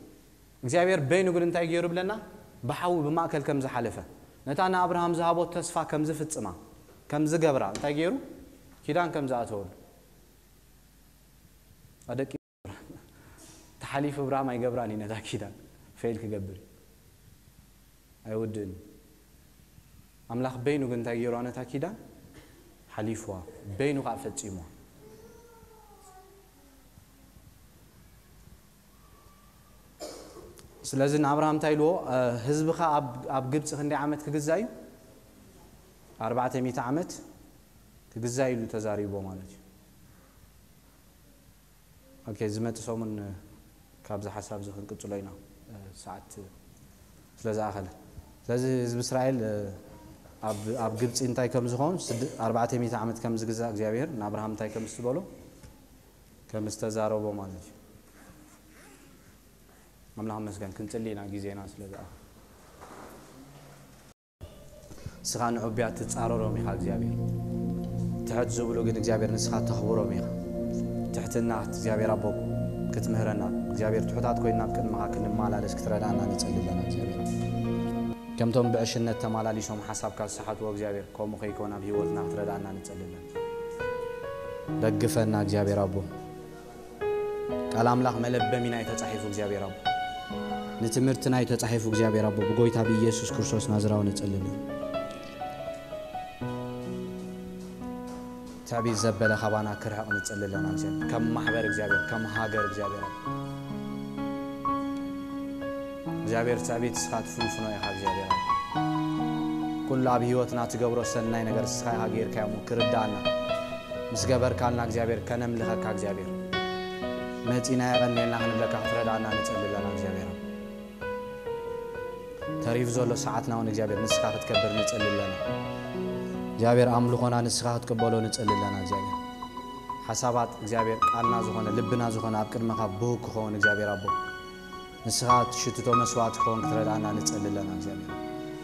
እግዚኣብሔር በይኑ ግን እንታይ ገይሩ ብለና? ብሓዊ ብማእከል ከም ዝሓለፈ፣ ነታ ንኣብርሃም ዝሃቦ ተስፋ ከም ዝፍጽማ፣ ከም ዝገብራ እንታይ ገይሩ? ኪዳን ከም ዝኣተወሉ። ኣደቂ ተሓሊፉ ኣብርሃም ኣይገብራን እዩ ነታ ኪዳን። ፌል ክገብር እዩ። ኣይውድእን እዩ። ኣምላኽ በይኑ ግን እንታይ ገይርዋ ነታ ኪዳን? ሓሊፍዋ። በይኑ ከዓ ፈጺምዋ። ስለዚ ንኣብርሃም እንታይ ኢልዎ? ህዝብኻ ኣብ ኣብ ግብፂ ክንደይ ዓመት ክግዛእ እዩ? ኣርባዕተ ሚእቲ ዓመት ክግዛእ ኢሉ ተዛሪቦ ማለት እዩ። ኦኬ፣ ዝመጽእ ሰሙን ካብዚ ሓሳብ እዚ ክንቅጽሎ ኢና፣ ሰዓት ስለ ዝኣኸለ። ስለዚ ህዝቢ እስራኤል ኣብ ኣብ ግብጺ እንታይ ከም ዝኾን፣ ኣርባዕተ ሚእቲ ዓመት ከም ዝግዛእ እግዚኣብሔር ንኣብርሃም እንታይ ከም ዝተበሎ ከም ዝተዛረቦ ማለት እዩ። ኣምላኽ መስገን ክንጽሊ ኢና ግዜና ስለ ዝኣኸለ። ንስኻ ንዕቡያት ትጻረሮም ኢኻ እግዚኣብሔር። ትሕት ዝብሉ ግን እግዚኣብሔር ንስኻ ተኽብሮም ኢኻ። ትሕትና እግዚኣብሔር ኣቦ ክትምህረና እግዚኣብሔር ትሑታት ኮይና ኣብ ቅድመኻ ክንመላለስ ክትረዳና ንጸሊ ኣለና እግዚኣብሔር። ከምቶም ብዕሽነት ተመላሊሶም ሓሳብካ ዝሰሓትዎ እግዚኣብሔር ከምኡ ከይኮን ኣብ ህይወትና ክትረዳና ንጸሊ ኣለና። ደግፈና እግዚኣብሔር ኣቦ። ቃል ኣምላኽ መለበሚና እዩ ተጻሒፉ እግዚኣብሔር ኣቦ። ንትምህርትና እዩ ተጻሒፉ እግዚኣብሔር ኣቦ። ብጎይታ ብኢየሱስ ክርስቶስ ናዝራዊ ንጽሊ ኣለና። ትዕቢት ዘበለ ካባና ክርሕቕ ንጽሊ ኣለና እግዚኣብሔር። ከም ማሕበር እግዚኣብሔር፣ ከም ሃገር እግዚኣብሔር ኣቦ። እግዚኣብሔር ትዕቢት ንስኻ ትፍንፍኖ ኢኻ እግዚኣብሔር ኣቦ። ኩሉ ኣብ ህይወትና ትገብሮ ሰናይ ነገር ንስኻ ኢኻ ጌርካዮ እሞ ክርዳኣና፣ ምስ ገበርካልና እግዚኣብሔር ከነምልኸካ እግዚኣብሔር መጺና የቐንየልና ክንብለካ ክትረዳኣና ንጸሊ ኣለና እግዚኣብሔር። ተሪፉ ዘሎ ሰዓትና እውን እግዚኣብሔር ንስኻ ክትከብር ንጸሊ ኣለና እግዚኣብሔር። ኣምልኾና ንስኻ ክትቅበሎ ንጸሊ ኣለና እግዚኣብሔር። ሓሳባት እግዚኣብሔር ቃልና ዝኾነ ልብና ዝኾነ ኣብ ቅድመኻ ብህግ ክኸውን እግዚኣብሔር ኣቦ ንስኻ ትሽትቶ መስዋዕት ክኸውን ክትረዳኣና ንጸሊ ኣለና እግዚኣብሔር።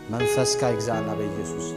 መንፈስካ ይግዛኣና በኢየሱስ።